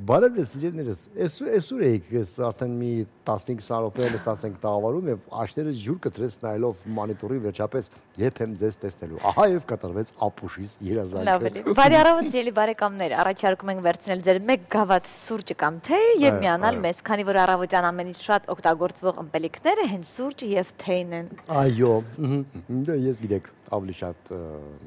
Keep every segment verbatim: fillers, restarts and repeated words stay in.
Բարև ես, սիրելիներս, այսօր էիք ես արդեն մի տասնհինգ րոպե նստացենք տաղավարում եւ աշներս ջուր կտրեց նայելով մոնիտորի վերջապես երբ եմ ձեզ տեսնելու։ Ահա եւ կատարվեց ապուշից երազանքը։ Լավ էլի։ Բարի առավոտ, սիրելի բարեկամներ, առաջարկում ենք վերցնել ձեր մեկ գավաթ սուրճը կամ թե եւ միանալ մեզ, քանի որ առավոտյան ամենից շատ օգտագործվող ըմպելիքները հենց սուրճը եւ թեյն են։ Այո, ես գիտեք, ավելի շատ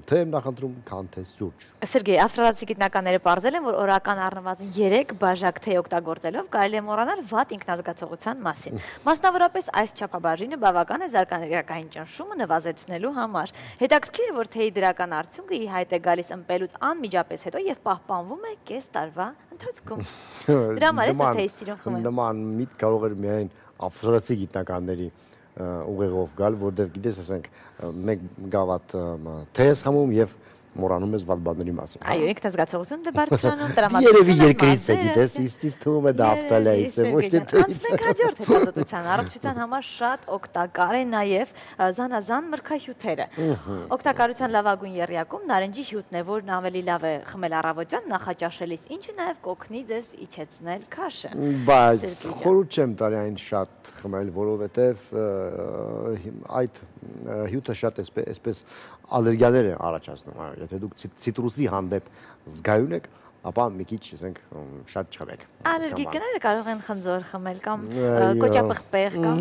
թե եմ նախընտրում, քան թե սուրճ։ Սերգեյ, ավստրալացի գիտնականները պարզել են, որ օրական առնվազն երեք բաժակ թեյ օգտագործելով կարելի է մոռանալ վատ ինքնազգացողության մասին։ Մասնավորապես այս չափաբաժինը բավական է զարգացական ճնշումը նվազեցնելու համար։ Հետաքրքիր է, որ թեյի դրական արդյունքը ի հայտ է գալիս ըմպելուց անմիջապես հետո եւ պահպանվում է կես տարվա ընթացքում։ Դրա համար է թեյի սիրուն խմել։ Նման միտ կարող էր միայն ավստրալացի գիտնականների ուղեղով գալ, որտեղ գիտես, ասենք, մեկ գավաթ թեյ ես խմում եւ մոռանում ես վատ բաների մասին։ Այո, ինքնազգացողություն դե բարձրանում տրամադրություն։ Երևի երկրից է, գիտես, իստիս թվում է դա Ավստրալիայից է, ոչ թե թեյից։ Անցնենք հաջորդ հետազոտության, առողջության համար շատ օգտակար է նաեւ զանազան մրգահյութերը։ Օգտակարության լավագույն եռյակում նարնջի հյութն է, որն ավելի լավ է խմել առավոտյան նախաճաշելիս, ինչը նաեւ կօգնի ձեզ իջեցնել քաշը։ Բայց խորհուրդ չեմ տալի այն շատ խմել, որովհետեւ այդ հյութը շատ այսպես ալերգիաներ է առաջացնում։ Եթե դուք ցիտրուսի հանդեպ զգայուն եք, ապա մի քիչ, ասենք, շատ չխմեք։ Ալերգիկները կարող են խնձոր խմել կամ կոճապղպեղ կամ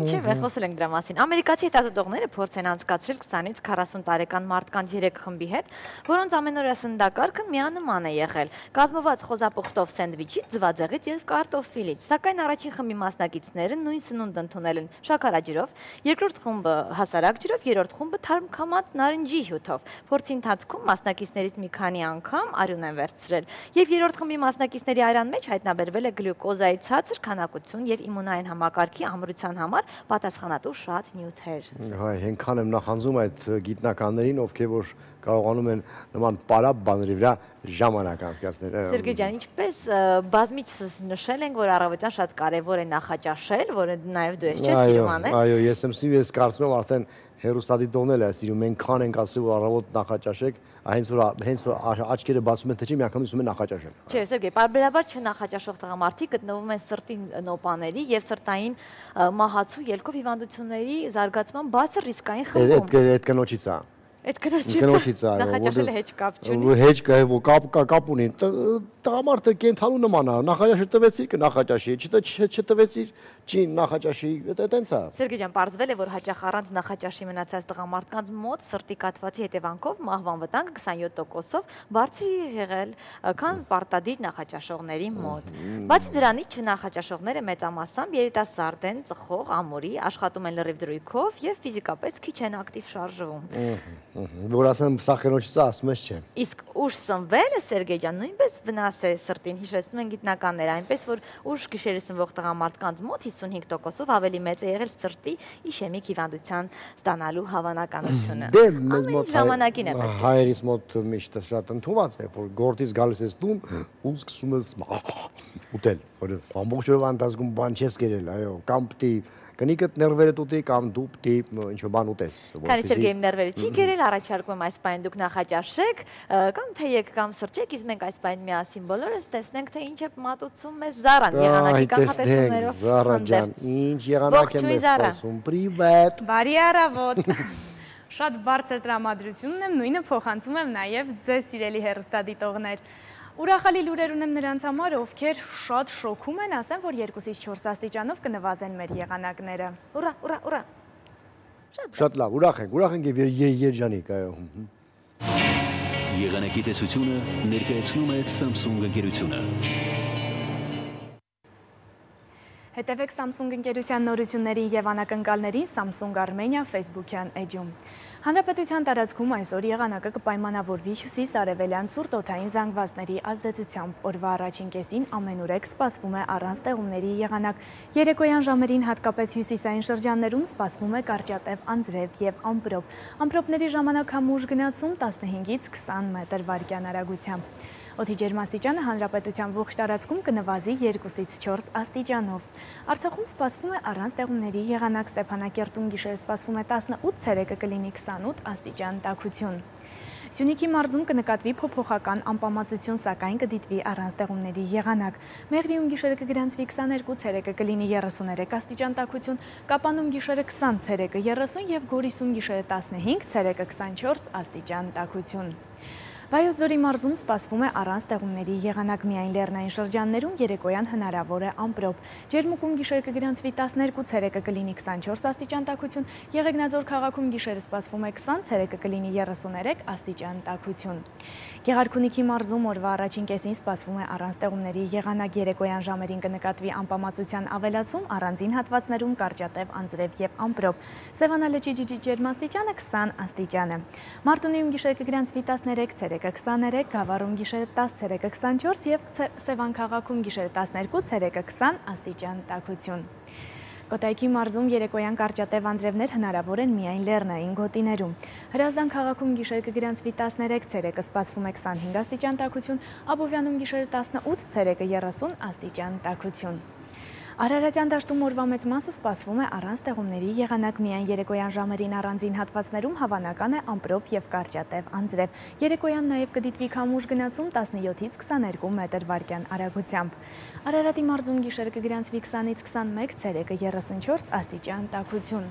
չէ, խոսել ենք դրա մասին։ Ամերիկացի հետազոտողները փորձ են անցկացրել քսանից քառասուն տարեկան մարդկանց երեք խմբի հետ, որոնց ամենօրյա սննդակարգը միանման է եղել, կազմված խոզապուխտով սենդվիչից, ձվածեղից եւ կարտոֆիլից։ Սակայն առաջին խմբի մասնակիցները նույն սնունդ ընդունել են շաքարաջրով, երկրորդ խումբը հասարակ ջրով, երրորդ խումբը թարմքամած նարնջի հյութով։ Փորձի ընթացքում մասնակիցներից մի քանի անգամ արյուն են վերցրել, եւ երրորդ խմբի մասնակիցների արյան մեջ հայտնաբերվել է գլյուկոզայի ցածր քանակություն եւ իմունային համակարգի ամրության համար պատասխանատու շատ նյութեր։ Հայ, հենքան եմ նախանձում այդ գիտնականներին, ովքեր որ կարողանում են նման պարապ բաների վրա ժամանակ անցկացնել։ Սերգեյ ջան, ինչպես բազմիցս նշել ենք, որ առավոտյան շատ կարևոր է նախաճաշել, որը նաեւ դու ես չես սիրում անել։ Այո, ես եմ սիրում, ես կարծում եմ արդեն հերոստատիտողն էլ է սիրում, այնքան ենք ասում, որ առավոտ նախաճաշեք, հենց որ հենց որ աչքերը բացում են, թե չի միանգամից ուզում են նախաճաշել։ Չէ, Սերգեյ, բարբերաբար չնախաճաշող տղամարդիկ գտնվում են սրտի նոպաների եւ սրտային մահացու ելքով հիվանդությունների զարգացման բարձր ռիսկային խմբում։ Այդ կնոջից է։ Այդ կնոջից է, նախաճաշելը հեչ կապ չունի։ Հեչ կապ կապ ունի։ Տղամարդը կենթանու նման է, նախաճաշը տվեցիր կնախաճաշի, չտվեցիր չի նախաճաշի, դա տենց է։ Սերգեյ ջան, պարզվել է, որ հաճախ առանց նախաճաշի մնացած տղամարդկանց մոտ սրտի կաթվածի հետևանքով մահվան վտանգը քսանյոթ տոկոսով բարձր է եղել, քան պարտադիր նախաճաշողների մոտ։ Բացի դրանից, չնախաճաշողները մեծամասամբ երիտասարդ են, ծխող, ամուրի, աշխատում են լրիվ դրույքով եւ ֆիզիկապես քիչ են ակտիվ շարժվում։ Որ ասեմ, սա խենոջից ասում ես չէ։ Իսկ ուշ սնվելը, Սերգեյ ջան, նույնպես վնաս է սրտին, հիշեցնում են գիտնականները, այնպես որ ուշ գիշերը սնվող տղամարդկանց մոտ հիսունհինգ տոկոսով ավելի մեծ է եղել սրտի իշեմիկ հիվանդության ստանալու հավանականությունը։ Դե մեզ մոտ ժամանակին է պետք։ Հայերիս մոտ միշտ շատ ընդունված է, որ գործից գալիս ես տուն ու սկսում ես ուտել, որ ամբողջ օրվա ընթացքում բան չես կերել, այո, կամ պիտի կնիկդ ներվերդ ուտի կամ դու պիտի ինչ-որ բան ուտես։ Քանի Սերգեյ ներվերը չի կերել, առաջարկում եմ այս պայն դուք նախաճաշեք, կամ թեյեք կամ սրճեք, իսկ մենք այս պայն միասին բոլորս տեսնենք, թե ինչ է մատուցում մեզ Զարան եղանակի կանխատեսումներով։ Զարան ջան, ինչ եղանակ է մեզ խոսում։ Պրիվետ։ Բարի առավոտ։ Շատ բարձր տրամադրությունն եմ, նույնը փոխանցում եմ նաև ձեզ սիրելի հեռուստադիտողներ։ Ուրախալի լուրեր ունեմ նրանց համար, ովքեր շատ շոքում են, ասեմ, որ երկուսից չորս աստիճանով կնվազեն մեր եղանակները։ Ուրա, ուրա, ուրա։ Շատ լավ, ուրախ ենք, ուրախ ենք եւ երջանիկ, այո։ Եղանակի տեսությունը ներկայացնում է Samsung ընկերությունը։ Հետևեք Samsung ընկերության նորություններին եւ անակնկալներին Samsung Armenia Facebook-յան էջում։ Հանրապետության տարածքում այսօր եղանակը կպայմանավորվի հյուսիս-արևելյան ցուրտ օդային զանգվածների ազդեցությամբ։ Օրվա առաջին կեսին ամենուրեք սպասվում է առանց տեղումների եղանակ։ Երեկոյան ժամերին հատկապես հյուսիսային շրջաններում սպասվում է կարճատև անձրև եւ ամպրոպ։ Ամպրոպների ժամանակ համուժ գնացում տասնհինգից քսան մետր վայրկյան արագությամբ։ Օդի ջերմաստիճանը հանրապետության ողջ տարածքում կնվազի երկուսից չորս աստիճանով։ Արցախում սպասվում է առանց տեղումների եղանակ, Ստեփանակերտում գիշերը սպասվում է տասնութ, ցերեկը կլինի քսանութ աստիճան տաքություն։ Սյունիքի մարզում կնկատվի փոփոխական անպամացություն, սակայն կդիտվի առանց տեղումների եղանակ։ Մեղրիում գիշերը կգրանցվի քսաներկու, ցերեկը կլինի երեսուներեք աստիճան տաքություն, Կապանում գիշերը քսան, ցերեկը երեսուն և Գորիսում գիշերը տասնհինգ, ցերեկը քսանչորս աստիճան տաքություն։ Վայոց ձորի մարզում սպասվում է առանց տեղումների եղանակ, միայն լեռնային շրջաններում երեկոյան հնարավոր է ամպրոպ։ Ջերմուկում գիշերը կգրանցվի տասներկու, ցերեկը կլինի քսանչորս աստիճան տաքություն, Եղեգնաձոր քաղաքում գիշերը սպասվում է քսան, ցերեկը կլինի երեսուներեք աստիճան տաքություն։ Գեղարքունիքի մարզում օրվա առաջին կեսին սպասվում է առանց տեղումների եղանակ, երեկոյան ժամերին կնկատվի անպամացության ավելացում, առանձին հատվածներում կարճատև անձրև և ամպրոպ։ Սևանալճի ջերմաստիճանը քսան աստիճան է։ Մարտունիում գիշերը կգրանցվի տասներեք, ցերեկը քսաներեք, Գավառում գիշերը տաս, ցերեկը քսանչորս և Սևան քաղաքում գիշերը տասներկու, ցերեկը քսան աստիճան տաքություն։ Կոտայքի մարզում երեկոյան կարճատև անձրևներ հնարավոր են միայն լեռնային գոտիներում։ Հրազդան քաղաքում գիշերը կգրանցվի տասներեք, ցերեկը սպասվում է քսանհինգ աստիճան տաքություն, Աբովյանում գիշերը տասնութ, ցերեկը երեսուն աստիճան տաքություն։ Արարատյան դաշտում օրվա մեծ մասը սպասվում է առանց տեղումների եղանակ, միայն երեկոյան ժամերին առանձին հատվածներում հավանական է ամպրոպ և կարճատև անձրև։ Երեկոյան նաև կդիտվի քամուշ գնացում տասնյոթից քսաներկու մետր վարկյան արագությամբ։ Արարատի մարզում գիշերը կգրանցվի քսանից քսանմեկ, ցերեկը երեսունչորս աստիճան տաքություն։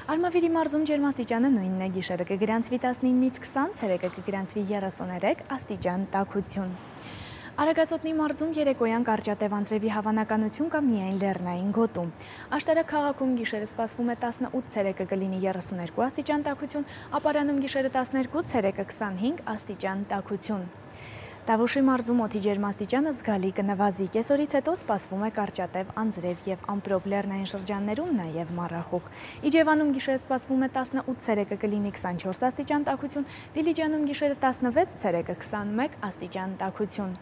Արմավիրի մարզում ջերմաստիճանը նույնն է, գիշերը կգրանցվի տասնինից քսան, ցերեկը կգրանցվի երեսուներեք աստիճան տաքություն։ Արագածոտնի մարզում երեկոյան կարճատև անձրևի հավանականություն կա միայն լեռնային գոտում։ Աշտարակ քաղաքում գիշերը սպասվում է տասնութ, ցերեկը կլինի երեսուներկու աստիճան տաքություն, Ապարանում գիշերը տասներկու, ցերեկը քսանհինգ աստիճան տաքություն։ Տավուշի մարզում օդի ջերմաստիճանը զգալի կնվազի, կեսօրից հետո սպասվում է կարճատև անձրև և ամպրոպ, լեռնային շրջաններում նաև մառախուղ։ Իջևանում գիշերը սպասվում է տասնութ, ցերեկը կլինի քսանչորս աստիճան տաքություն, Դիլիջանում գիշերը տասնվեց, ցերեկը քսանմեկ աստիճան տաքություն։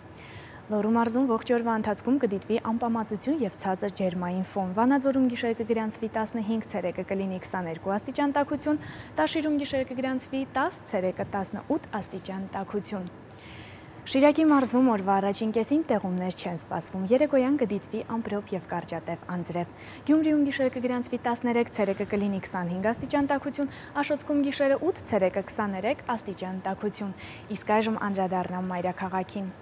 Լոռու մարզում ողջ օրվա ընթացքում կդիտվի անպամացություն և ցածր ջերմային ֆոն։ Վանաձորում գիշերը կգրանցվի տասնհինգ, ցերեկը կլինի քսաներկու աստիճան տաքություն, Տաշիրում գիշերը կգրանցվի տաս, ցերեկը տասնութ աստիճան տաքություն։ Շիրակի մարզում օրվա առաջին կեսին տեղումներ չեն սպասվում, երեկոյան կդիտվի ամպրոպ և կարճատև անձրև։ Գյումրիում գիշերը կգրանցվի տասներեք, ցերեկը կլինի քսանհինգ աստիճան տաքություն, Աշոտսկում գիշերը ութ, ցերեկը քսաներեք աստիճան տաքություն։ Իսկ այժմ անդրադառնամ մայրաքաղաքին։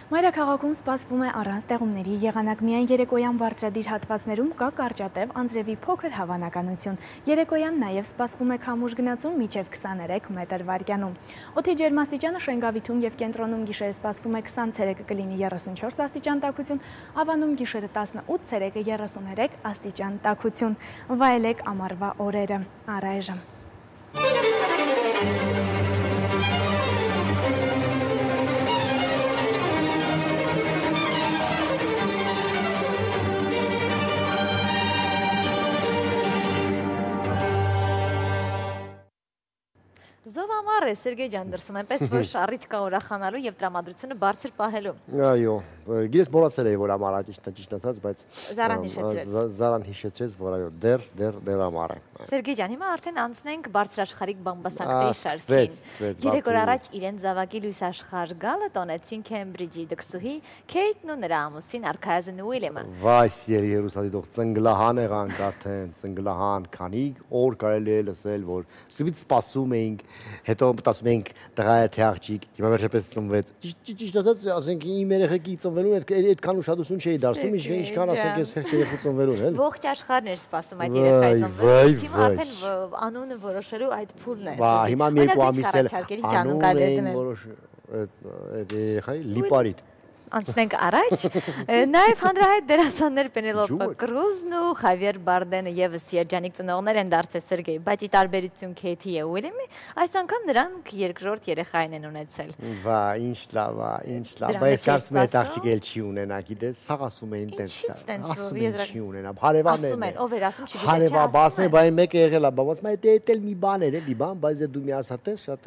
Մայրաքաղաքում սպասվում է առանց տեղումների եղանակ, միայն երեկոյան բարձրադիր հատվածներում կա կարճատև անձրևի փոքր հավանականություն։ Երեկոյան նաև սպասվում է քամուշ գնացում մինչև քսաներեք մետր վարկյանում։ Օդի ջերմաստիճանը Շենգավիթում և կենտրոնում գիշերը սպասվում է քսան, ցերեկը կլինի երեսունչորս աստիճան տաքություն, Ավանում գիշերը տասնութ, ցերեկը երեսուներեք աստիճան տաքություն։ Վայելեք ամառվա օրերը։ Առայժմ։ Զով ամառ է, Սերգեյ ջան, դրսում այնպես, որ շառիթ կա ուրախանալու և տրամադրությունը բարձր պահելու։ Այո, գիրես մոռացել էի, որ ամառ է, ճիշտ ասած, բայց Զարան հիշեցրեց։ Զարան հիշեցրեց, որ այո, դեռ դեռ դեռ ամառ է։ Սերգեյ ջան, հիմա արդեն անցնենք բարձրաշխարհիկ բամբասանքների շարքին։ Երեք օր առաջ իրեն զավակի լույս աշխարհ գալը տոնեցին Քեմբրիջի դքսուհի Քեյթն ու նրա ամուսին Արքայազն Ուիլյամը։ Վայ, սիրելի Երուսաղեմի ծնգլահան եղանք արդեն, ծնգլահան, քանի օր կարելի է լսել, որ սկզբից սպասում էինք, հետո մտածում էինք տղա է թե աղջիկ, հիմա վերջապես ծնվեց։ Ճիշտ ասած, ասենք իմ երեխեքի ծնվելուն այդքան ուշադրություն չէի դարձնում, ինչքան ասենք ես երեխու ծնվելուն, էլ։ Ողջ աշխարհն էր սպասում այդ երեխայի ծնվելուն, հիմա արդեն անունը որոշելու այդ փուլն է։ Բա հիմա մի երկու ամիս էլ անուն էին որոշ այդ երեխայի Լիպարիտ։ Անցնենք առաջ, նաև հանրահայտ դերասաններ Պենելոպե Կրուզն ու Խավիեր Բարդենը ևս երջանիկ ծնողներ են դարձել Սերգեյ, բայց ի տարբերություն Քեյթի և Ուիլյամի, այս անգամ նրանք երկրորդ երեխային են ունեցել։ Վա, ինչ լավ, ինչ լավ, բայց կարծում եմ այդ աղջիկը էլ չի ունենա, գիտես, սաղ ասում էին տենց, ասում են չի ունենա, հարևաններն են։ Ասում են, ով էր ասում, չգիտեմ, հարևան, ասում են, բայց մեկը եղել է, բայց այդ էլ մի բան էր, էլի բան, բայց դու միացած ես, շատ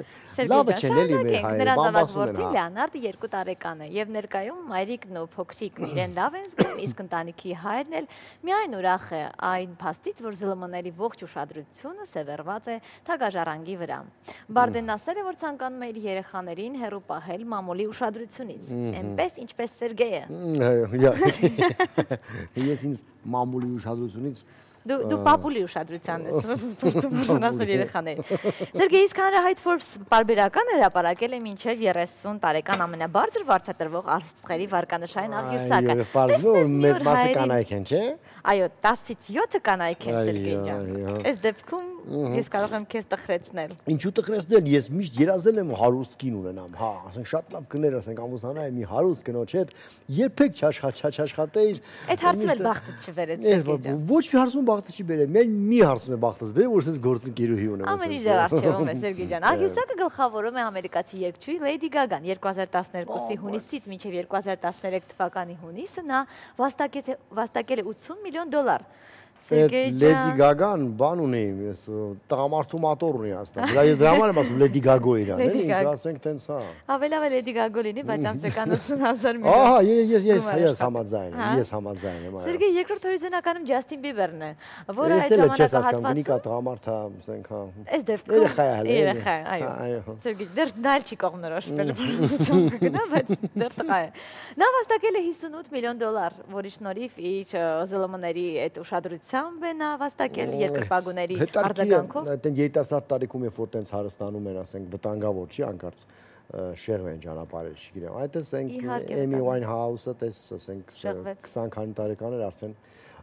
լավը չեն էլի մեր հայերը, բան ասում են։ Լեոնարդը երկու տարեկան է և ներկայում մայրիկն ու փոքրիկն իրեն լավ են զգում, իսկ ընտանիքի հայրն էլ միայն ուրախ է այն փաստից, որ ԶԼՄ-ների ողջ ուշադրությունը սևեռված է թագաժառանգի վրա։ Բարդենն ասել է, որ ցանկանում է իր երեխաներին հեռու պահել մամուլի ուշադրությունից, այնպես ինչպես Սերգեյը։ Ես ինձ մամուլի ուշադրությունից Դու պապուլի ուշադրությանն ես փորձում նշանակել երեխաներին։ Սերգեյ, իսկ հանրահայտ Forbes պարբերական հրապարակել է մինչև երեսուն տարեկան ամենաբարձր վարձատրվող աստղերի վարկանշային աղյուսակը։ Պարզվում մեծ մասը կանայք են, չէ՞։ Այո, տասից յոթը կանայք են, Սերգեյ ջան։ Այս դեպքում ես կարող եմ քեզ տխրեցնել։ Ինչու տխրեցնել, ես միշտ երազել եմ հարուստ կին ունենամ, հա, ասենք շատ լավ կներ, ասենք ամուսնանայի մի հարուստ կնոջ հետ, երբեք չաշխատեիր։ Այդ հարցը էլ բախտդ չվերեց, Սերգեյ ջան։ Ոչ մի հարցում բախտը չի բերել, մեր մի հարցում է բախտս բերել, որ ասես գործընկերուհի ունեմ։ Ամեն ինչ դեռ արժևում է, Սերգեյ ջան։ Աղյուսակը գլխավորում է ամերիկացի երգչուհի Լեյդի Գագան երկու հազար տասներկուսի հունիսից մինչև երկու հազար տասներեք թվականի հունիսը նա վաստակել է ութսուն միլիոն դոլար։ Լեդի Գագան բան ունի, ես տղամարդու մատոր ունի աստան։ Դա ես դրա համար եմ ասում Լեդի Գագո իրան, էլի, ասենք տենց հա։ Ավելի ավելի Լեդի Գագո լինի, բայց ամսական ութսուն հազար միլիոն։ Ահա, ես ես ես համաձայն եմ, ես համաձայն եմ, այո։ Սերգեյ, երկրորդ հորիզոնականում Ջաստին Բիբերն է, որը այդ ժամանակ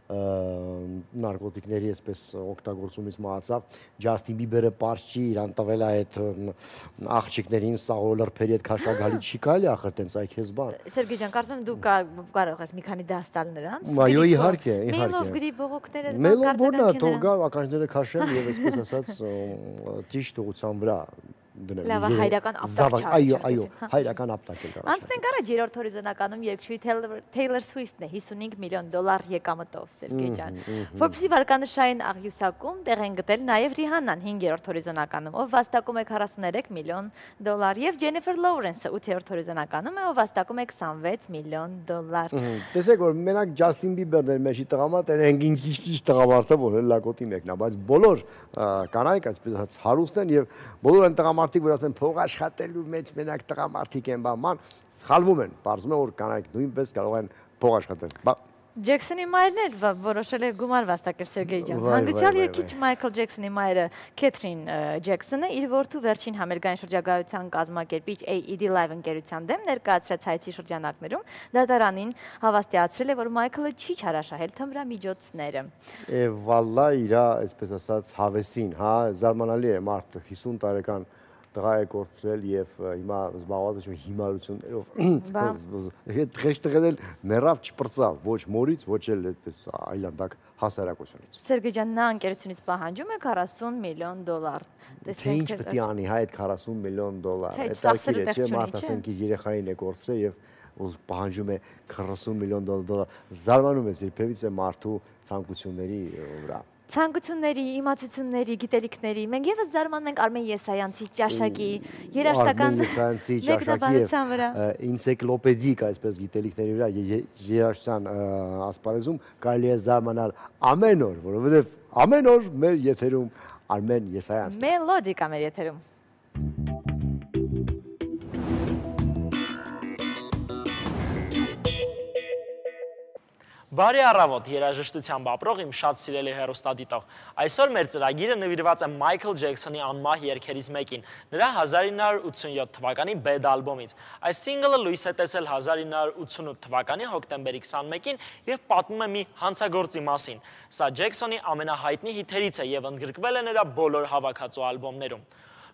նարկոտիկների այսպես օգտագործումից մահացավ, Ջաստին Բիբերը պարզ չի, իրան տվել է այդ աղջիկներին սաղոր լրբերի հետ քաշագալի չի կարելի ախր տենց այ քեզ բան։ Սերգեյ ջան, կարծում եմ դու կարող ես մի քանի դաս տալ նրանց։ Այո, իհարկե, իհարկե։ Մեյլով գրի բողոքները Մեյլով որնա թող գա ականջները քաշեն եւ այսպես ասած ճիշտ ուղղության վրա դնել։ Լավ, հայրական ապտակ չարի։ Այո, այո, հայրական ապտակ էլ կարա։ Անցնենք առաջ երրորդ հորիզոնականում երգչուհի Taylor Swift-ն է հիսունհինգ միլիոն դոլար եկամտով, Սերգեյ ջան։ Forbes-ի վարկանշային աղյուսակում տեղ են գտել նաև Ռիհաննան հինգերորդ հորիզոնականում, ով վաստակում է քառասուներեք միլիոն դոլար, եւ Ջենիֆեր Լոուրենսը ութերորդ հորիզոնականում է, ով վաստակում է քսանվեց միլիոն դոլար։ Տեսեք, որ մենակ Ջաստին Բիբերն էր մեջի տղամարդ, այն ինչ տղամարդը, որ լակոտի մեկն է, բայց բոլոր կանայք այսպես ասած հարուստ են եւ բոլոր այն տղամարդիկ, որ ասեն փող աշխատելու մեջ մենակ տղամարդիկ են, բան, սխալվում են, պարզվում է որ կանայք նույնպես կարող են փող աշխատել։ Ջեքսոնի մայրն էլ որոշել է գումար վաստակել, Սերգեյ ջան։ Հանգուցյալ երգիչ Մայքլ Ջեքսոնի մայրը Քեթրին Ջեքսոնը իր որդու վերջին համերգային շրջագայության կազմակերպիչ A E D Live ընկերության դեմ ներկայացրած հայցի շրջանակներում դատարանին հավաստիացրել է, որ Մայքլը չի չարաշահել թմրամիջոցները։ Վալլա իրա, այսպես ասած, հավեսին, հա, զարմանալի է մարդ հիսուն տարեկան տղա է կորցրել եւ հիմա զբաղված է հիմարություններով։ Հետ տղենել մեռավ չպրծավ, ոչ մորից, ոչ էլ այդպես այլանդակ հասարակությունից։ Սերգեյ ջան, նա ընկերությունից պահանջում է քառասուն միլիոն դոլար։ Թե ինչ պետք է անի, հա, այդ քառասուն միլիոն դոլար։ Այդ ակիր է, չէ, մարդ ասենք իր երեխային է կորցրել եւ պահանջում է քառասուն միլիոն դոլար։ Զարմանում ես երբևիցե մարդու ցանկությունների վրա։ Ցանկությունների, իմացությունների, գիտելիքների, մենք եւս զարմանում ենք Արմեն Եսայանցի ճաշակի, երաժշտական մեկնաբանության վրա, ինցիկլոպեդիկ այսպես գիտելիքների վրա, երաժշտության ասպարեզում կարելի է զարմանալ ամեն օր, որովհետեւ ամեն օր մեր եթերում Արմեն Եսայանցն է։ Մելոդիկա մեր եթերում։ Բարի առավոտ, երաժշտությամբ ապրող իմ շատ սիրելի հեռուստադիտող։ Այսօր մեր ծրագիրը նվիրված է Մայքլ Ջեքսոնի անմահ երգերից մեկին, նրա հազար ինը հարյուր ութսունյոթ թվականի Bad ալբոմից։ Այս սինգլը լույս է տեսել հազար ինը հարյուր ութսունութ թվականի հոկտեմբերի քսանմեկին եւ պատմում է մի հանցագործի մասին։ Սա Ջեքսոնի ամենահայտնի հիթերից է եւ ընդգրկվել է նրա բոլոր հավաքածու ալբոմներում։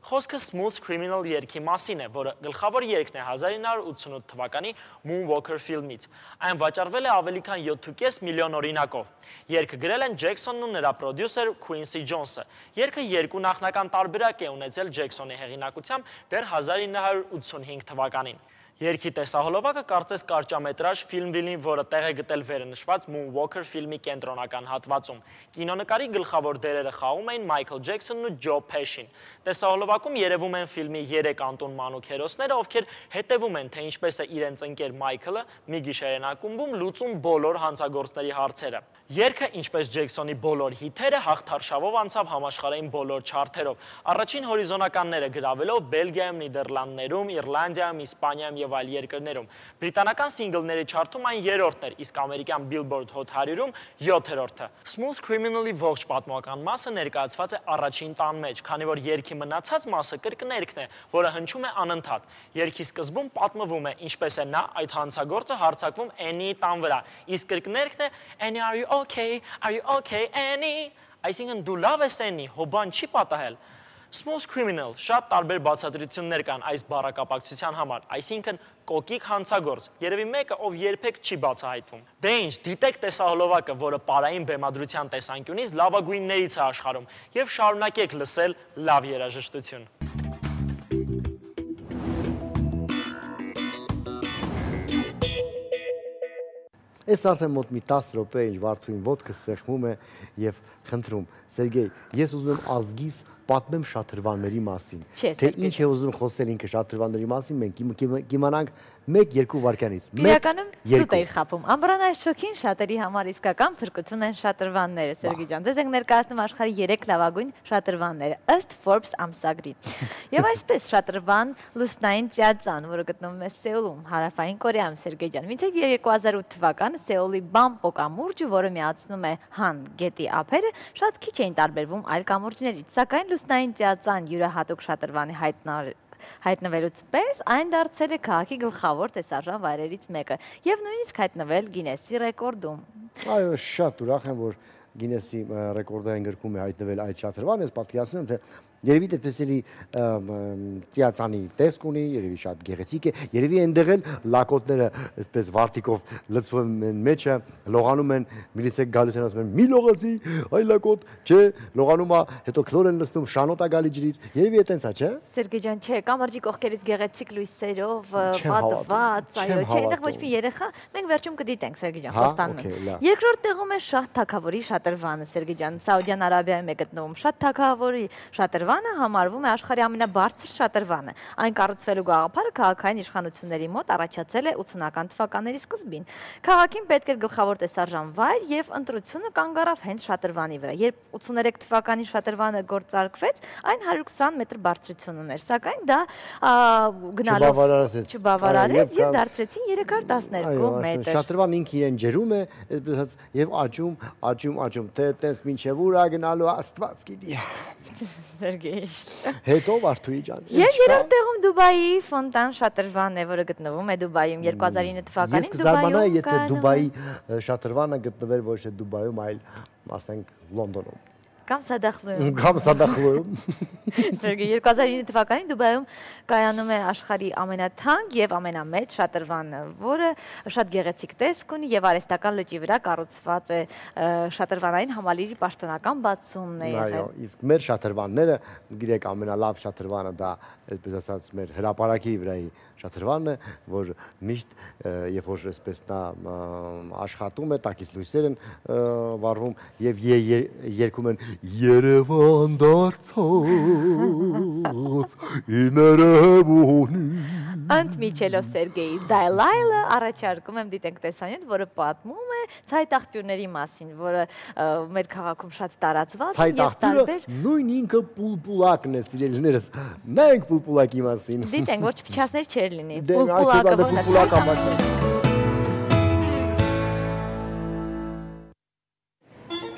Խոսքը Smooth Criminal երգի մասին է, որը գլխավոր երգն է հազար ինը հարյուր ութսունութ թվականի Moonwalker ֆիլմից։ Այն վաճառվել է ավելի քան յոթ միլիոն օրինակով։ Երգը գրել են Ջեքսոնն ու նրա պրոդյուսեր Քուինսի Ջոնսը։ Երգը երկու նախնական տարբերակ է ունեցել Ջեքսոնի հեղինակությամբ դեռ հազար ինը հարյուր ութսունհինգ թվականին։ Երգի տեսահոլովակը կարծես կարճամետրաժ ֆիլմ լինի, որը տեղ է գտել վերը նշված Moonwalker ֆիլմի կենտրոնական հատվածում։ Կինոնկարի գլխավոր դերերը խաղում էին Մայքլ Ջեքսոնն ու Ջո Փեշին։ Տեսահոլովակում երևում են ֆիլմի երեք անտուն մանուկ հերոսները, ովքեր հետևում են, թե ինչպես է իրենց ընկեր Մայքլը մի գիշերային ակումբում լուծում բոլոր հանցագործների հարցերը։ Երգը, ինչպես Ջեքսոնի բոլոր հիթերը, հաղթարշավով անցավ համաշխարհային բոլոր չարթերով։ Առաջին հորիզոնականները գրավելով Բելգիայում, Նիդերլանդներում, Իռլանդիայում, Իսպանիայում եւ այլ երկրներում։ Բրիտանական սինգլների չարթում այն երրորդն էր, իսկ ամերիկյան Billboard Hot հարյուրում յոթերորդը։ Smooth Criminal-ի ողջ պատմական մասը ներկայացված է առաջին տան մեջ, քանի որ երգի մնացած մասը կրկներգն է, որը հնչում է անընդհատ։ Երգի սկզբում պատմվում է, ինչպես է նա այդ հանցագործը հարձակվում Annie-ի տան վրա, իսկ կրկներգն է Annie, are you okay? Are you okay, Annie? Այսինքն դու լավ ես Annie, հոբան չի պատահել։ Smooth Criminal շատ տարբեր բացատրություններ կան այս բառակապակցության համար, այսինքն կոկիկ հանցագործ, երևի մեկը, ով երբեք չի բացահայտվում։ Դե ինչ, դիտեք տեսահոլովակը, որը պարային բեմադրության տեսանկյունից լավագույններից է աշխարհում, եւ շարունակեք լսել լավ երաժշտություն։ Այս արդեն մոտ մի տասը րոպե ինչ Վարդուհին ոտքը սեղմում է եւ խնդրում Սերգեյ, ես ուզում եմ ազգիս պատմեմ շատրվանների մասին։ Թե ինչ է ուզում խոսել ինքը շատրվանների մասին, մենք կիմանանք մեկ-երկու վայրկյանից։ Իրականում սուտ էիր խփում։ Ամբրանայից շոքին շատերի համար իսկական փրկություն են շատրվանները, Սերգեյ ջան։ Ձեզ ենք ներկայացնում աշխարհի երեք լավագույն շատրվանները ըստ Forbes ամսագրի։ Եվ այսպես շատրվան լուսնային ծիածան, որը գտնվում է Սեուլում, Հարավային Կորեայում, Սերգեյ ջան։ Մինչև երկու հազար ութ թվականը Սեուլի Բամպո կամուրջը, որը միացնում է Han գետի ափերը, շատ քիչ էին տարբերվում այլ կամուրջներից, սակայն լուսնային ծիածան յուրահատուկ շատրվանի հայտնվելուց պես այն դարձել է քաղաքի գլխավոր տեսարժան վայրերից մեկը եւ նույնիսկ հայտնվել Գինեսի ռեկորդում։ Այո, շատ ուրախ եմ, որ Գինեսի ռեկորդային գրքում է հայտնվել այդ շատրվանը, ես պատկերացնում եմ, թե երևի դեպսելի ծիածանի տեսք ունի, երևի շատ գեղեցիկ է, երևի այնտեղ էլ լակոտները այսպես վարտիկով լցվում են մեջը, լողանում են, միլիցեք գալիս են ասում են՝ «Մի լողացի, այ լակոտ», չէ, լողանում է, հետո քլոր են լցնում, շանոտ է գալի ջրից, երևի է տենց է, չէ։ Սերգեյ ջան, չէ, կամրջի կողքերից գեղեցիկ լույսերով, պատված, այո, չէ, այնտեղ ոչ մի երեխա, մենք վերջում կդիտենք, Սերգեյ ջան, խոստանում եմ։ Երկրորդ տեղում է Շահ թագավորի շատրվանը, Սերգեյ ջան, Սաուդյան Արաբիայում է գտնվում։ Շահ թագավորի շատրվանը համարվում է աշխարհի ամենաբարձր շատրվանը։ Այն կառուցվելու գաղափարը քաղաքային իշխանությունների մոտ առաջացել է ութսունական թվականների սկզբին։ Քաղաքին պետք էր գլխավոր տեսարժան վայր եւ ընտրությունը կանգ առավ հենց շատրվանի վրա։ Երբ ութսուներեք թվականի շատրվանը գործարկվեց, այն հարյուր քսան մետր բարձրություն ուներ, սակայն դա գնալով չբավարարեց եւ դարձրեցին երեք հարյուր տասներկու մետր։ Շատրվան ինքը իրեն ջրում է, այսպես եւ աճում, աճում, աճում, թե տես մինչեւ ուր է գնալու Աստված գիտի։ Սերգեյ։ Հետո Վարդուհի ջան։ Եվ երրորդ տեղում Դուբայի Ֆոնտան շատրվանն է, որը գտնվում է Դուբայում երկու հազար ինը թվականին Դուբայում։ Ես կզարմանայի, եթե Դուբայի շատրվանը գտնվեր ոչ թե Դուբայում, այլ ասենք Լոնդոնում։ Կամ Սադախլուում։ Կամ Սադախլուում։ Սերգեյ, երկու հազար ինը թվականին Դուբայում կայանում է աշխարհի ամենաթանկ եւ ամենամեծ շատրվանը, որը շատ գեղեցիկ տեսք ունի եւ արհեստական լճի վրա կառուցված է շատրվանային համալիրի պաշտոնական բացումն է եղել։ Այո, իսկ մեր շատրվանները, գիտեք, ամենալավ շատրվանը դա, այսպես ասած, մեր հրապարակի վրայի շատրվանն է, որ միշտ երբ որ այսպես նա աշխատում է, տակից լույսեր են վառվում եւ երգում են Երևան դարձած իներևունի։ Ընդմիջելով Սերգեյի Դայլայլը առաջարկում եմ դիտենք տեսանյութ, որը պատմում է ցայտ աղբյուրների մասին, որը մեր քաղաքում շատ տարածված է եւ տարբեր։ Նույն ինքը պուլպուլակն է, սիրելիներս։ Նայենք պուլպուլակի մասին։ Դիտենք, որ չփչացներ չէր լինի։ Պուլպուլակը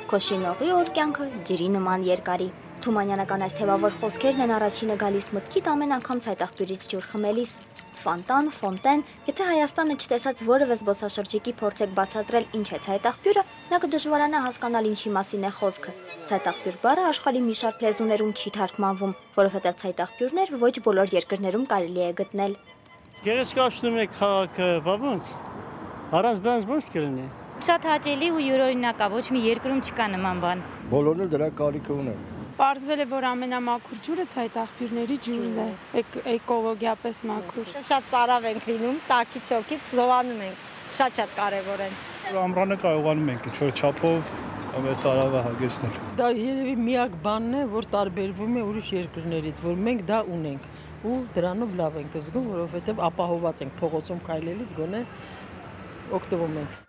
Քոշինողի օր կյանքը ջրի նման երկարի։ Թումանյանական այս թևավոր խոսքերն են առաջինը գալիս մտքիդ ամեն անգամ ցայտաղբյուրից ջուր խմելիս։ Ֆոնտան, ֆոնտեն, եթե Հայաստանը չտեսած որևէ զբոսաշրջիկի փորձեք բացատրել ինչ է ցայտաղբյուրը, նա կդժվարանա հասկանալ ինչի մասին է խոսքը։ Ցայտաղբյուր բառը աշխարհի մի շարք լեզուներում չի թարգմանվում, որովհետև ցայտաղբյուրներ ոչ բոլոր երկրներում կարելի է գտնել։ Գեղեցկացնում է քաղաքը, բաբոնց։ Առանց դրանց ոչ կլինի։ Շատ հաճելի ու յուրօրինակ է, ոչ մի երկրում չկա նման բան։ Բոլորը դրա կարիքը ունեն։ Պարզվել է, որ ամենամաքուր ջուրը ցայտաղբյուրների ջուրն է, էկոլոգիապես մաքուր։ Շատ ծարավ ենք լինում, տաքի չոքից զովանում ենք, շատ-շատ կարևոր են։ Ամռանը կարողանում ենք ինչ-որ չափով մեր ծարավը հագեցնել։ Դա երևի միակ բանն է, որ տարբերվում է ուրիշ երկրներից, որ մենք դա ունենք ու դրանով լավ ենք զգում, որովհետև ապահոված ենք փողոցում քայլելից գոնե օգտվում ենք։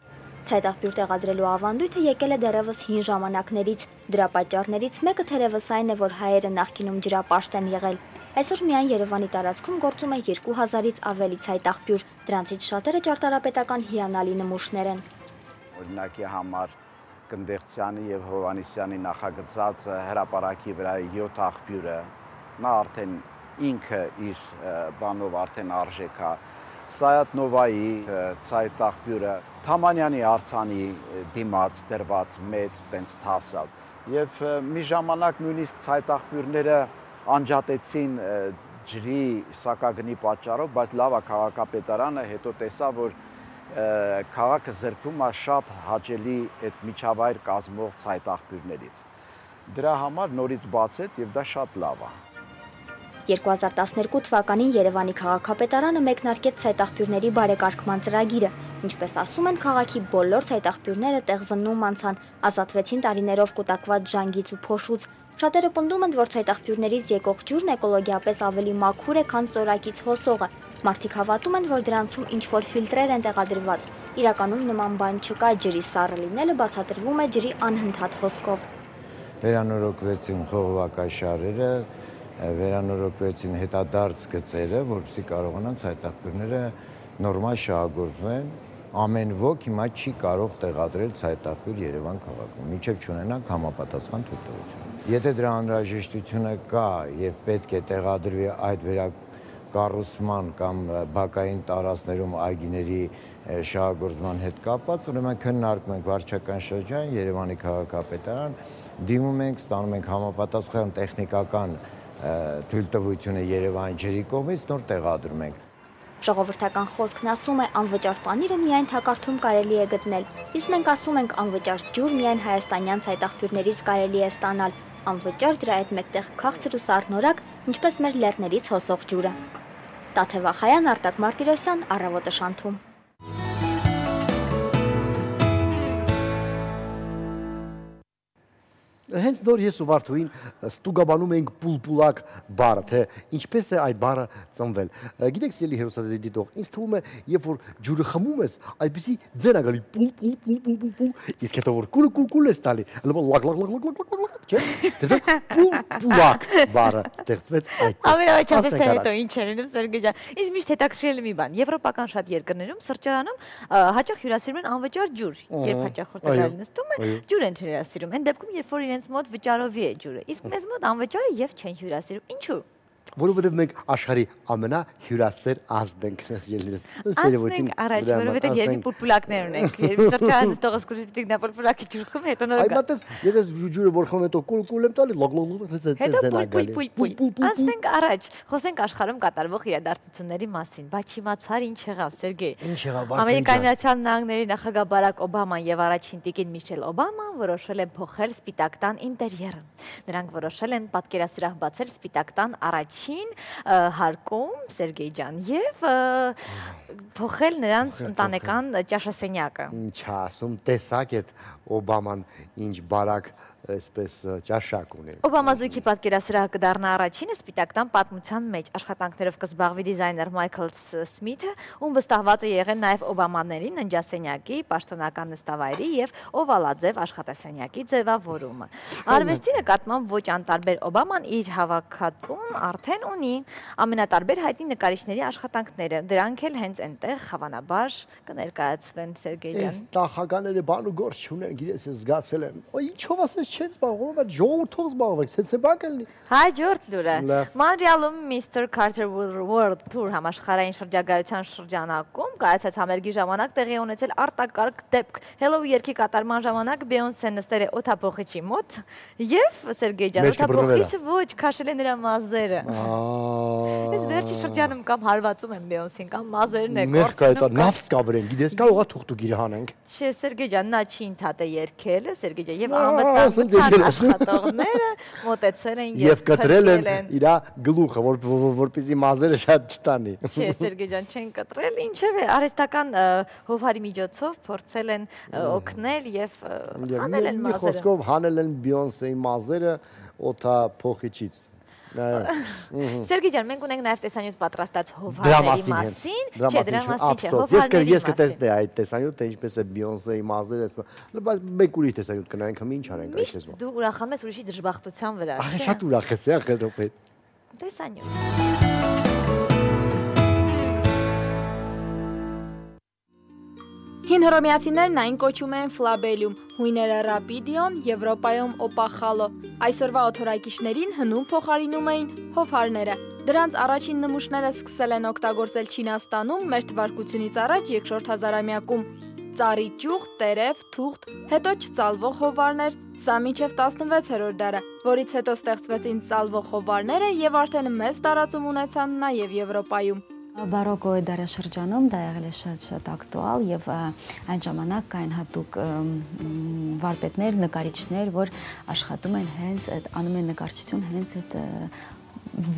Ցայտաղբյուր տեղադրելու ավանդույթը եկել է դեռևս հին ժամանակներից։ Դրա պատճառներից մեկը թերևս այն է, որ հայերը նախկինում ջրապաշտ են եղել։ Այսօր միայն Երևանի տարածքում գործում է երկու հազարից ավելի ցայտաղբյուր, դրանցից շատերը ճարտարապետական հիանալի նմուշներ են։ Օրինակի համար Կնդեղցյանի եւ Հովհաննիսյանի նախագծած հրապարակի վրա յոթ աղբյուրը, նա արդեն ինքը իր բանով արդեն արժեք է։ Սայաթ Նովայի ցայտաղբյուրը Թամանյանի արձանի դիմաց դրված մեծ տենց թասալ եւ մի ժամանակ նույնիսկ ցայտաղբյուրները անջատեցին ջրի սակագնի պատճառով, բայց լավ է քաղաքապետարանը հետո տեսա, որ քաղաքը զրկվում է շատ հաճելի այդ միջավայր կազմող ցայտաղբյուրներից։ Դրա համար նորից բացեց եւ դա շատ լավ է։ երկու հազար տասներկու թվականին Երևանի քաղաքապետարանը մեկնարկեց ցայտաղբյուրների բարեկարգման ծրագիրը, ինչպես ասում են, քաղաքի բոլոր ցայտաղբյուրները տեղզննում անցան, ազատվեցին տարիներով կուտակված ժանգից ու փոշուց։ Շատերը պնդում են, որ ցայտաղբյուրներից եկող ջուրն էկոլոգիապես ավելի մաքուր է, քան ծորակից հոսողը։ Մարդիկ հավատում են, որ դրանցում ինչ-որ ֆիլտրեր են տեղադրված։ Իրականում նման բան չկա, ջրի սառը լինելը բացատրվում է ջրի անհնդհատ հոսքով։ Վերանորոգվեցին խողովակաշարերը, վերանորոգվեցին հետադարձ գծերը, որպեսզի կարողանան ցայտաղբյուրները նորմալ շահագործվեն։ Ամեն ոք հիմա չի կարող տեղադրել ցայտաղբյուր Երևան քաղաքում, մինչև չունենանք համապատասխան թույլտվություն։ Եթե դրա անհրաժեշտությունը կա եւ պետք է տեղադրվի այդ վերակառուցման կամ բակային տարածքներում այգիների շահագործման հետ կապված, ուրեմն քննարկում ենք վարչական շրջան, Երևանի քաղաքապետարան, դիմում ենք, ստանում ենք համապատասխան տեխնիկական թույլտվությունը Երևանի ջրի կողմից, նոր տեղադրում ենք։ Ժողովրդական խոսքն ասում է, անվճար պանիրը միայն թակարդում կարելի է գտնել, իսկ մենք ասում ենք, անվճար ջուր միայն հայաստանյան ցայտաղբյուրներից կարելի է ստանալ, անվճար դրա հետ մեկտեղ քաղցր ու սառնորակ, ինչպես մեր լեռներից հոսող ջուրը։ Տաթև Ախայան, Արտակ Մարտիրոսյան, Առավոտը շանթում։ Հենց նոր ես ու Վարդուհին ստուգաբանում ենք պուլպուլակ բառը, թե ինչպես է այդ բառը ծնվել։ Գիտեք, սիրելի հերոսատեսի դիտող, ինձ թվում է, երբ որ ջուրը խմում ես, այդպեսի ձեն ա գալի պուլ պուլ պուլ պուլ պուլ պուլ, իսկ հետո որ կուլ կուլ կուլ ես տալի, լավ լակ լակ լակ լակ լակ լակ, չէ՞։ Դե պուլպուլակ բառը ստեղծվեց այդպես։ Ամենաճաշտը հետո ինչ է լինում, Սերգեյ ջան։ Իսկ միշտ հետաքրքրել մի բան, եվրոպական շատ երկրներում սրճարանում հաճախ հյուրասիրում են անվճար ջուր, երբ հաճախորդը նստում է, ջուր են հյուրասիրում։ Այն դեպքում, երբ որ իրենց մոտ վճարովի է ջուրը, իսկ մեզ մոտ անվճար է եւ չեն հյուրասիրում։ Ինչու՞։ Որովհետև մենք աշխարհի ամենահյուրասեր ազգն ենք, ելնես։ Անցնենք առաջ, որովհետև երկու պուլպուլակներ ունենք։ Երբ սրճարանը նստողս սկսի պիտի նա պուլպուլակի ջուր խմի, հետո նոր գա։ Այդպես, ես ջուրը որ խմեմ, հետո կուլ կուլ եմ տալի, լոգ լոգ լոգ, հետո պուլ պուլ պուլ։ Անցնենք առաջ, խոսենք աշխարհում կատարվող իրադարձությունների մասին։ Բայց չիմացար ինչ եղավ, Սերգեյ։ Ինչ եղավ։ Ամերիկայի Միացյալ Նահանգների նախագահ Բարակ Օբաման եւ առաջին տիկին Միշել Օբաման որոշել են փոխել Սպիտակ տան ինտերիերը։ Նրանք որոշել են պատկերասրահ բացել Սպիտակ տան առաջին հարկում, Սերգեյ ջան, եւ փոխել նրանց ընտանեկան ճաշասենյակը։ Ինչ ասում, տեսակ այդ Օբաման ինչ բարակ այսպես ճաշակ ունի։ Օբամա զույգի պատկերասրահը կդառնա առաջինը Սպիտակ տան պատմության մեջ, աշխատանքներով կզբաղվի դիզայներ Մայքլ Սմիթը, ում վստահված է եղել նաև Օբամաների ննջասենյակի, պաշտոնական նստավայրի եւ օվալաձև աշխատասենյակի ձևավորումը։ Արվեստի նկատմամբ ոչ անտարբեր Օբաման իր հավաքածուն արդեն ունի ամենատարբեր հայտնի նկարիչների աշխատանքները, դրանք էլ հենց այնտեղ հավանաբար կներկայացվեն, Սերգեյ ջան։ Այս տախականները բան ու գործ չունեն, գիտես, ես զգացել եմ։ Ոյ ինչով ասես չեն զբաղվում, այդ ժողովրդով զբաղվեք, ցեցե բակ ելնի։ Հաջորդ լուրը։ Մոնրեալում Mister Carter World Tour համաշխարհային շրջագայության շրջանակում կայացած համերգի ժամանակ տեղի ունեցել արտակարգ դեպք։ Hello երգի կատարման ժամանակ Բեյոնսեն նստել է օդափոխիչի մոտ եւ Սերգեյ ջան օդափոխիչը ոչ քաշել է նրա մազերը։ Այս վերջի շրջանում կամ հարվածում են Բեյոնսին կամ մազերն է կորցնում։ Նավս կավրեն, գիտես, կարողա թուղթուկ իր հանենք։ Չէ, Սերգեյ ջան, նա չի ընդհատե երգել, Սերգեյ ջան, եւ անվտանգ ասում աշխատողները մոտեցել են եւ կտրել են իր գլուխը, որպեսզի մազերը շատ չտանի։ Չէ, Սերգեյ ջան, չեն կտրել, ինչևէ, արհեստական հովհարի միջոցով փորձել են օգնել եւ հանել են մազերը։ Մի խոսքով հանել են Բիոնսեի մազերը օթա փոխիչից։ Սերգեյ ջան, մենք ունենք նաև տեսանյութ պատրաստած հովհարների մասին, չէ, դրա մասին չէ, հովհարների մասին։ Ես կտեսնեի այդ տեսանյութը, թե ինչպես է Բիոնսեի մազերը, բայց մենք ուրիշ տեսանյութ կնայենք, հմ ինչ արենք այս տեսվա։ Դու ուրախանում ես ուրիշի դժբախտության վրա, չէ՞։ Շատ ուրախ ես, ախր րոպե։ Տեսանյութ։ Հին հռոմեացիներն այն կոչում են ֆլաբելիում, հույները ռապիդիոն, Եվրոպայում օպախալո։ Այսօրվա օթորակիչներին հնում փոխարինում էին հովհարները։ Դրանց առաջին նմուշները սկսել են օգտագործել Չինաստանում մեր թվարկությունից առաջ երկրորդ հազարամյակում։ Ծառի ճյուղ, տերև, թուղթ, հետո չծալվող հովարներ, սա մինչև տասնվեցերորդ դարը, որից հետո ստեղծվեցին ծալվող հովարները եւ արդեն մեծ տարածում ունեցան նաեւ Եվրոպայում։ Բարոկոյի դարաշրջանում դա եղել է շատ-շատ ակտուալ եւ այն ժամանակ կային հատուկ վարպետներ, նկարիչներ, որ աշխատում են հենց այդ անում են նկարչություն հենց այդ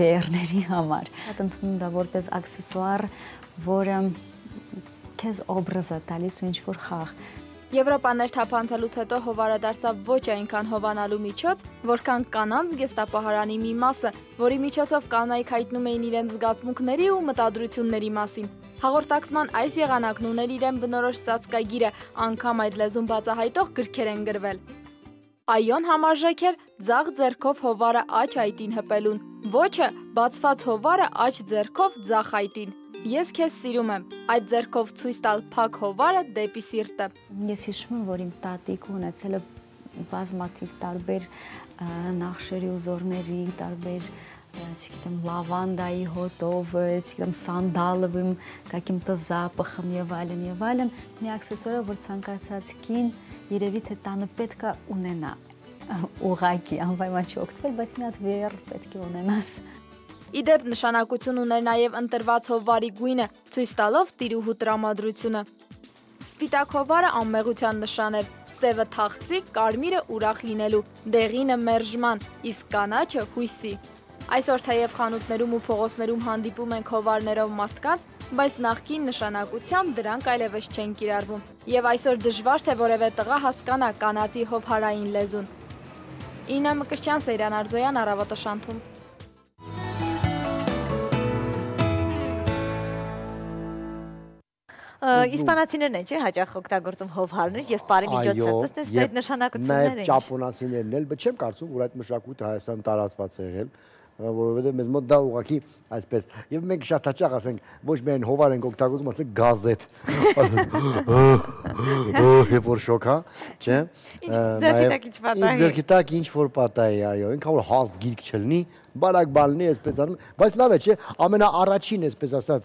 վեերների համար։ Այդ ընդունում դա որպես աքսեսուար, որը քեզ օբրազ է տալիս ու ինչ-որ խաղ։ Եվրոպաներ թափանցելուց հետո հովարը դարձավ ոչ այնքան հովանալու միջոց, որքան կանանց գեստապահարանի մի մասը, որի միջոցով կանայք հայտնում էին իրենց զգացմունքների ու մտադրությունների մասին։ Հաղորդակցման այս եղանակն ուներ իրեն բնորոշ ծածկագիրը, անգամ այդ լեզուն բացահայտող գրքեր են գրվել։ Այոն համարժեք էր ձախ ձեռքով հովարը աջ այտին հպելուն, ոչը բացված հովարը աջ ձեռքով ձախ այտին։ Ես քեզ սիրում եմ, այդ ձեռքով ցույց տալ փակ հովարը դեպի սիրտը։ Ես հիշում եմ, որ իմ տատիկը ունեցել է բազմաթիվ տարբեր նախշերի ուզորների, տարբեր, չգիտեմ, լավանդայի հոտով, չգիտեմ, սանդալովым, каким-то запахом եւ այլն եւ այլն, մի աքսեսուար, որ ցանկացած կին երևի թե տանը պետք է ունենա։ Ուղղակի անպայման չօգտվել, բայց մի հատ վեր պետք է ունենաս։ Իդեպ նշանակություն ուներ նաև ընտրված հովարի գույնը, ցույց տալով տիրուհու տրամադրությունը։ Սպիտակ հովարը անմեղության նշան էր, սևը թախծիկ, կարմիրը ուրախ լինելու, դեղինը մերժման, իսկ կանաչը հույսի։ Այսօր թեև խանութներում ու փողոցներում հանդիպում ենք հովարներով մարդկանց, բայց նախկին նշանակությամբ դրանք այլևս չեն կիրառվում։ Եվ այսօր դժվար թե որևէ տղա հասկանա կանացի հովհարային լեզուն։ Իննա Մկրտչյան, Սեյրան Արզոյան, Առավոտը շանթում։ Իսպանացիներն են, չէ՞, հաճախ օգտագործում հովհարներ եւ բարի միջոցով, տեսնես այդ նշանակությունները են։ Նաեւ ճապոնացիներն էլ, բայց չեմ կարծում, որ այդ մշակույթը Հայաստանում տարածված է եղել, որովհետեւ մեզ մոտ դա ուղղակի այսպես եւ մենք շատ հաճախ ասենք ոչ միայն հովար ենք օգտագործում, ասենք գազետ։ Եվ որ շոկա, չէ՞։ Ձերքի տակ ինչ որ պատահի, այո, ինքան որ հաստ գիրք չլինի, բարակ բալնի այսպես անում, բայց լավ է, չէ՞, ամենաառաջին այսպես ասած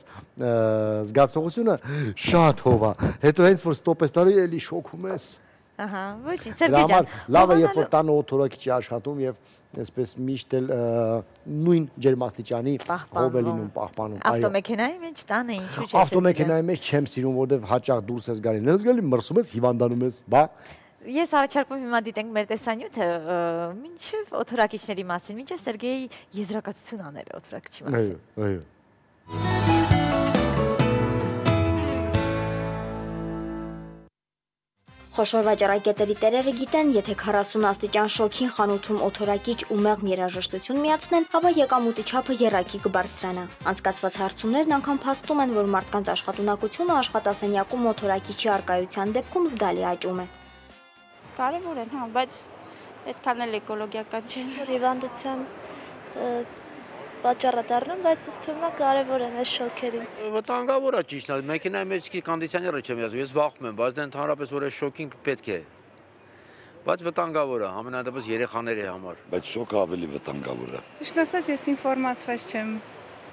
զգացողությունը շատ հով է։ Հետո հենց որ ստոպ ես տալի, էլի շոկում ես։ Ահա, ոչինչ, Սերգեյ ջան։ Լավ է, երբ որ տանը օթորակիչ աշխատում եւ այսպես միշտ էլ նույն ջերմաստիճանի հով է լինում, պահպանում։ Ավտոմեքենայի մեջ տանը ինչու՞ չէ։ Ավտոմեքենայի մեջ չեմ սիրում, որովհետեւ հաճախ դուրս ես գալի, նենց գալի մրսում ես, հիվանդանում ես, բա։ Ես առաջարկում հիմա դիտենք մեր տեսանյութը, մինչև օթորակիչների մասին, մինչև Սերգեյի եզրակացություն անել օթորակիչի մասին։ Այո, այո։ Խոշոր վաճառակետերի տերերը գիտեն, եթե քառասուն աստիճան շոքին խանութում օթորակիչ ու մեղմ երաժշտություն միացնեն, ապա եկամուտի չափը եռակի կբարձրանա։ Անցկացված հարցումներն անգամ փաստում են, որ մարդկանց աշխատունակությունը աշխատասենյակում օթորակիչի առկայության դեպքում զգալի աճում է։ Կարևոր են, հա, բայց այդքան էլ էկոլոգիական չեն։ Հիվանդության պատճառը դառնում, բայց ըստ թվում է կարևոր են այս շոքերին։ Վտանգավոր է ճիշտ է, մեքենայի մեջ կոնդիցիոները չեմ yazում, ես վախում եմ, բայց դա ընդհանրապես որ այս շոկին պետք է։ Բայց վտանգավոր է, ամենադեպս երեխաների համար։ Բայց շոկը ավելի վտանգավոր է։ Ճիշտ ասած, ես ինֆորմացված չեմ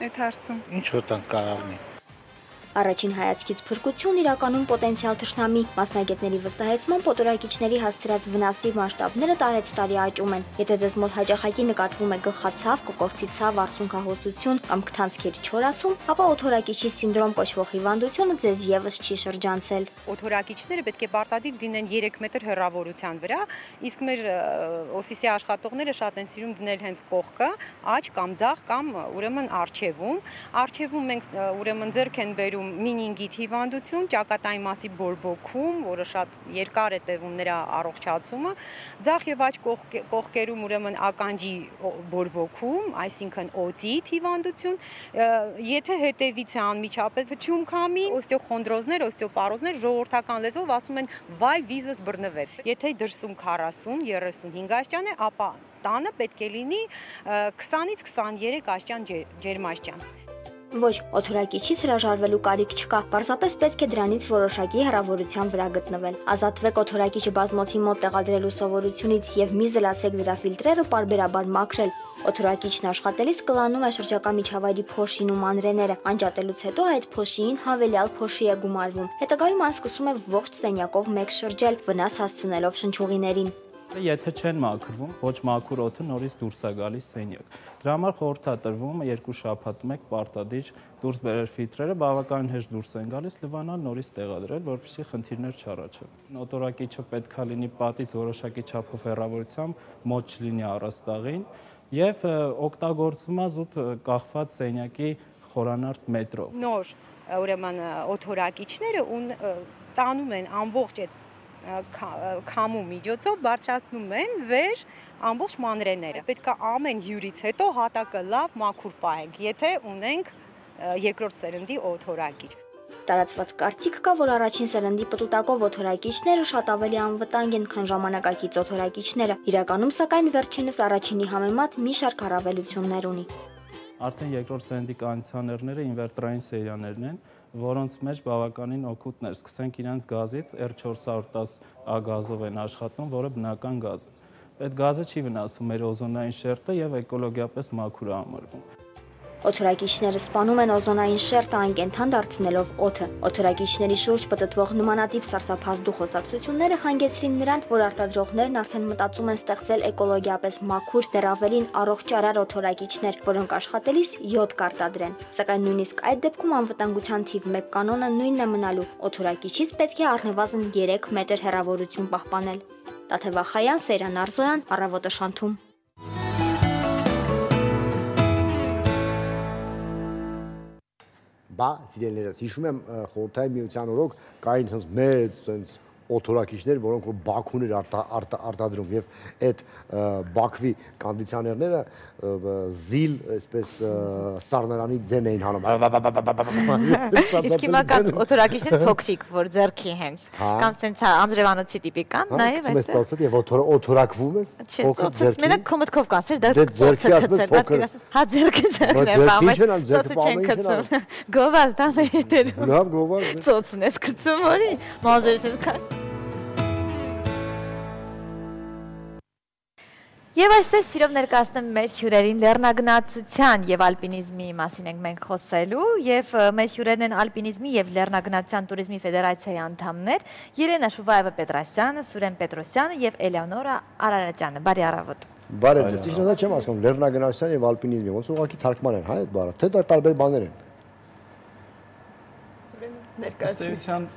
այդ հարցում։ Ինչ վտանգ կարող ունի։ Առաջին հայացքից փրկություն իրականում պոտենցիալ թշնամի, մասնագետների վստահեցմամբ օտորակիչների հասցրած վնասի մասշտաբները տարեց տարի աճում են։ Եթե ձեզ մոտ հաճախակի նկատվում է գլխացավ, կոկորդի ցավ, արցունքահոսություն կամ քթանցքերի չորացում, ապա օտորակիչի սինդրոմ կոչվող հիվանդությունը ձեզ եւս չի շրջանցել։ Օտորակիչները պետք է պարտադիր լինեն երեք մետր հեռավորության վրա, իսկ մեր օֆիսի աշխատողները շատ են սիրում դնել հենց կողքը, աջ կամ ձախ կամ ուրեմն առջևում։ Առջևում մենք ուրեմն ձեռք են բերում մինինգիտ հիվանդություն, ճակատային մասի բորբոքում, որը շատ երկար է տևում նրա առողջացումը, ձախ եւ աջ կողքերում ուրեմն ականջի բորբոքում, այսինքն օտիտ հիվանդություն, եթե հետևից է անմիջապես հջում քամի, օստեոխոնդրոզներ, օստեոպարոզներ ժողովրդական լեզվով ասում են վայ վիզս բռնվեց։ Եթե դրսում քառասուն երեսունհինգ աստիճան է, ապա տանը պետք է լինի քսանից քսաներեք աստիճան ջերմաստիճան։ Ոչ, օտորակիչից հրաժարվելու կարիք չկա, պարզապես պետք է դրանից որոշակի հեռավորության վրա գտնվել։ Ազատվեք օտորակիչը բազմոցի մոտ տեղադրելու սովորությունից եւ մի զլացեք դրա ֆիլտրերը պարբերաբար մաքրել։ Օտորակիչն աշխատելիս կլանում է շրջակա միջավայրի փոշին ու մանրեները, անջատելուց հետո այդ փոշիին հավելյալ փոշի է գումարվում։ Հետագայում այն սկսում է ողջ սենյակով մեկ շրջել, վնաս հասցնելով շնչուղիներին։ Եթե չեն մաքրվում, ոչ մաքուր օդը նորից դուրս է գալիս սենյակ։ Դրա համար խորհրդատրվում է երկու շաբաթ մեկ պարտադիր դուրս բերել ֆիլտրերը, բավականին հեշտ դուրս են գալիս, լվանալ նորից տեղադրել, որպեսզի խնդիրներ չառաջան։ Օտորակիչը պետքա լինի պատից որոշակի չափով հեռավորությամբ, մոտ չլինի առաստաղին եւ օգտագործվում է զուտ կախված սենյակի խորանարդ մետրով։ Նոր ուրեմն օտորակիչները տանում են ամբողջ այդ քամու միջոցով բարձրացնում են վեր ամբողջ մանրեները։ Պետք է ամեն հյուրից հետո հատակը լավ մաքուր պահենք, եթե ունենք երկրորդ սերնդի օտորակիչ։ Տարածված կարծիք կա, որ առաջին սերնդի պտուտակով օտորակիչները շատ ավելի անվտանգ են, քան ժամանակակից օտորակիչները։ Իրականում, սակայն, վերջինս առաջինի համեմատ մի շարք առավելություններ ունի։ Արդեն երկրորդ սերնդի կոնդիցիոներները ինվերտորային սերիաներն են, որոնց մեջ բավականին օգուտներ, սկսենք իրենց գազից, R չորս հարյուր տասը A գազով են աշխատում, որը բնական գազ է։ Այդ գազը չի վնասում մեր օզոնային շերտը եւ էկոլոգիապես մաքուր է համարվում։ Օտորակիչները սպանում են օզոնային շերտը անկենդան դարձնելով օդը։ Օտորակիչների շուրջ պտտվող նմանատիպ սարսափազդու խոսակցությունները հանգեցրին նրան, որ արտադրողներն արդեն մտածում են ստեղծել էկոլոգիապես մաքուր, դեռ ավելին առողջարար օտորակիչներ, որոնք աշխատելիս յոդ կարտադրեն։ Սակայն նույնիսկ այդ դեպքում անվտանգության թիվ մեկ կանոնը նույնն է մնալու։ Օտորակիչից պետք է առնվազն երեք մետր հեռավորություն պահպանել։ Տաթևախայան, Սեյրան Արզոյան, Առավոտը շանթում։ Բա սիրելիներս, հիշում եմ խորհրդային միության օրոք կային հենց մեծ sense օտորակիչներ, որոնք որ Բաքուն էր արտադրում եւ այդ Բաքվի կոնդիցիոներները զիլ, այսպես սառնարանի ձեն էին հանում։ Իսկ հիմա կան օտորակիչներ փոքրիկ, որ ձեռքի հենց կամ sense անձրևանոցի տիպիկան, նաեւ այս։ Ծոցը եւ օտորակվում ես փոքր ձեռքի։ Մենակ քո մտքով կանցեր դա ծոցը գցել, բա հա ձեռքը ձեռն է, բա ծոցը չեն գցում։ Գովազ դա մեր։ Լավ գովազ։ Ծոցն ես գցում, որի մազերից կա։ Եվ այսպես սիրով ներկայացնում մեր հյուրերին լեռնագնացության եւ ալպինիզմի մասին ենք մենք խոսելու եւ մեր հյուրերն են ալպինիզմի եւ լեռնագնացության туриզմի ֆեդերացիայի անդամներ Երենա Շուվայևա Պետրոսյանը, Սուրեն Պետրոսյանը եւ Էլեոնորա Արարատյանը։ Բարի առավոտ։ Բարի ձեզ։ Ճիշտ է, չեմ ասում լեռնագնացության եւ ալպինիզմի, ոնց ուղղակի թարգման են, հա, այդ բառը, թե դա տարբեր բաներ են։ Սուրեն ներկայացնում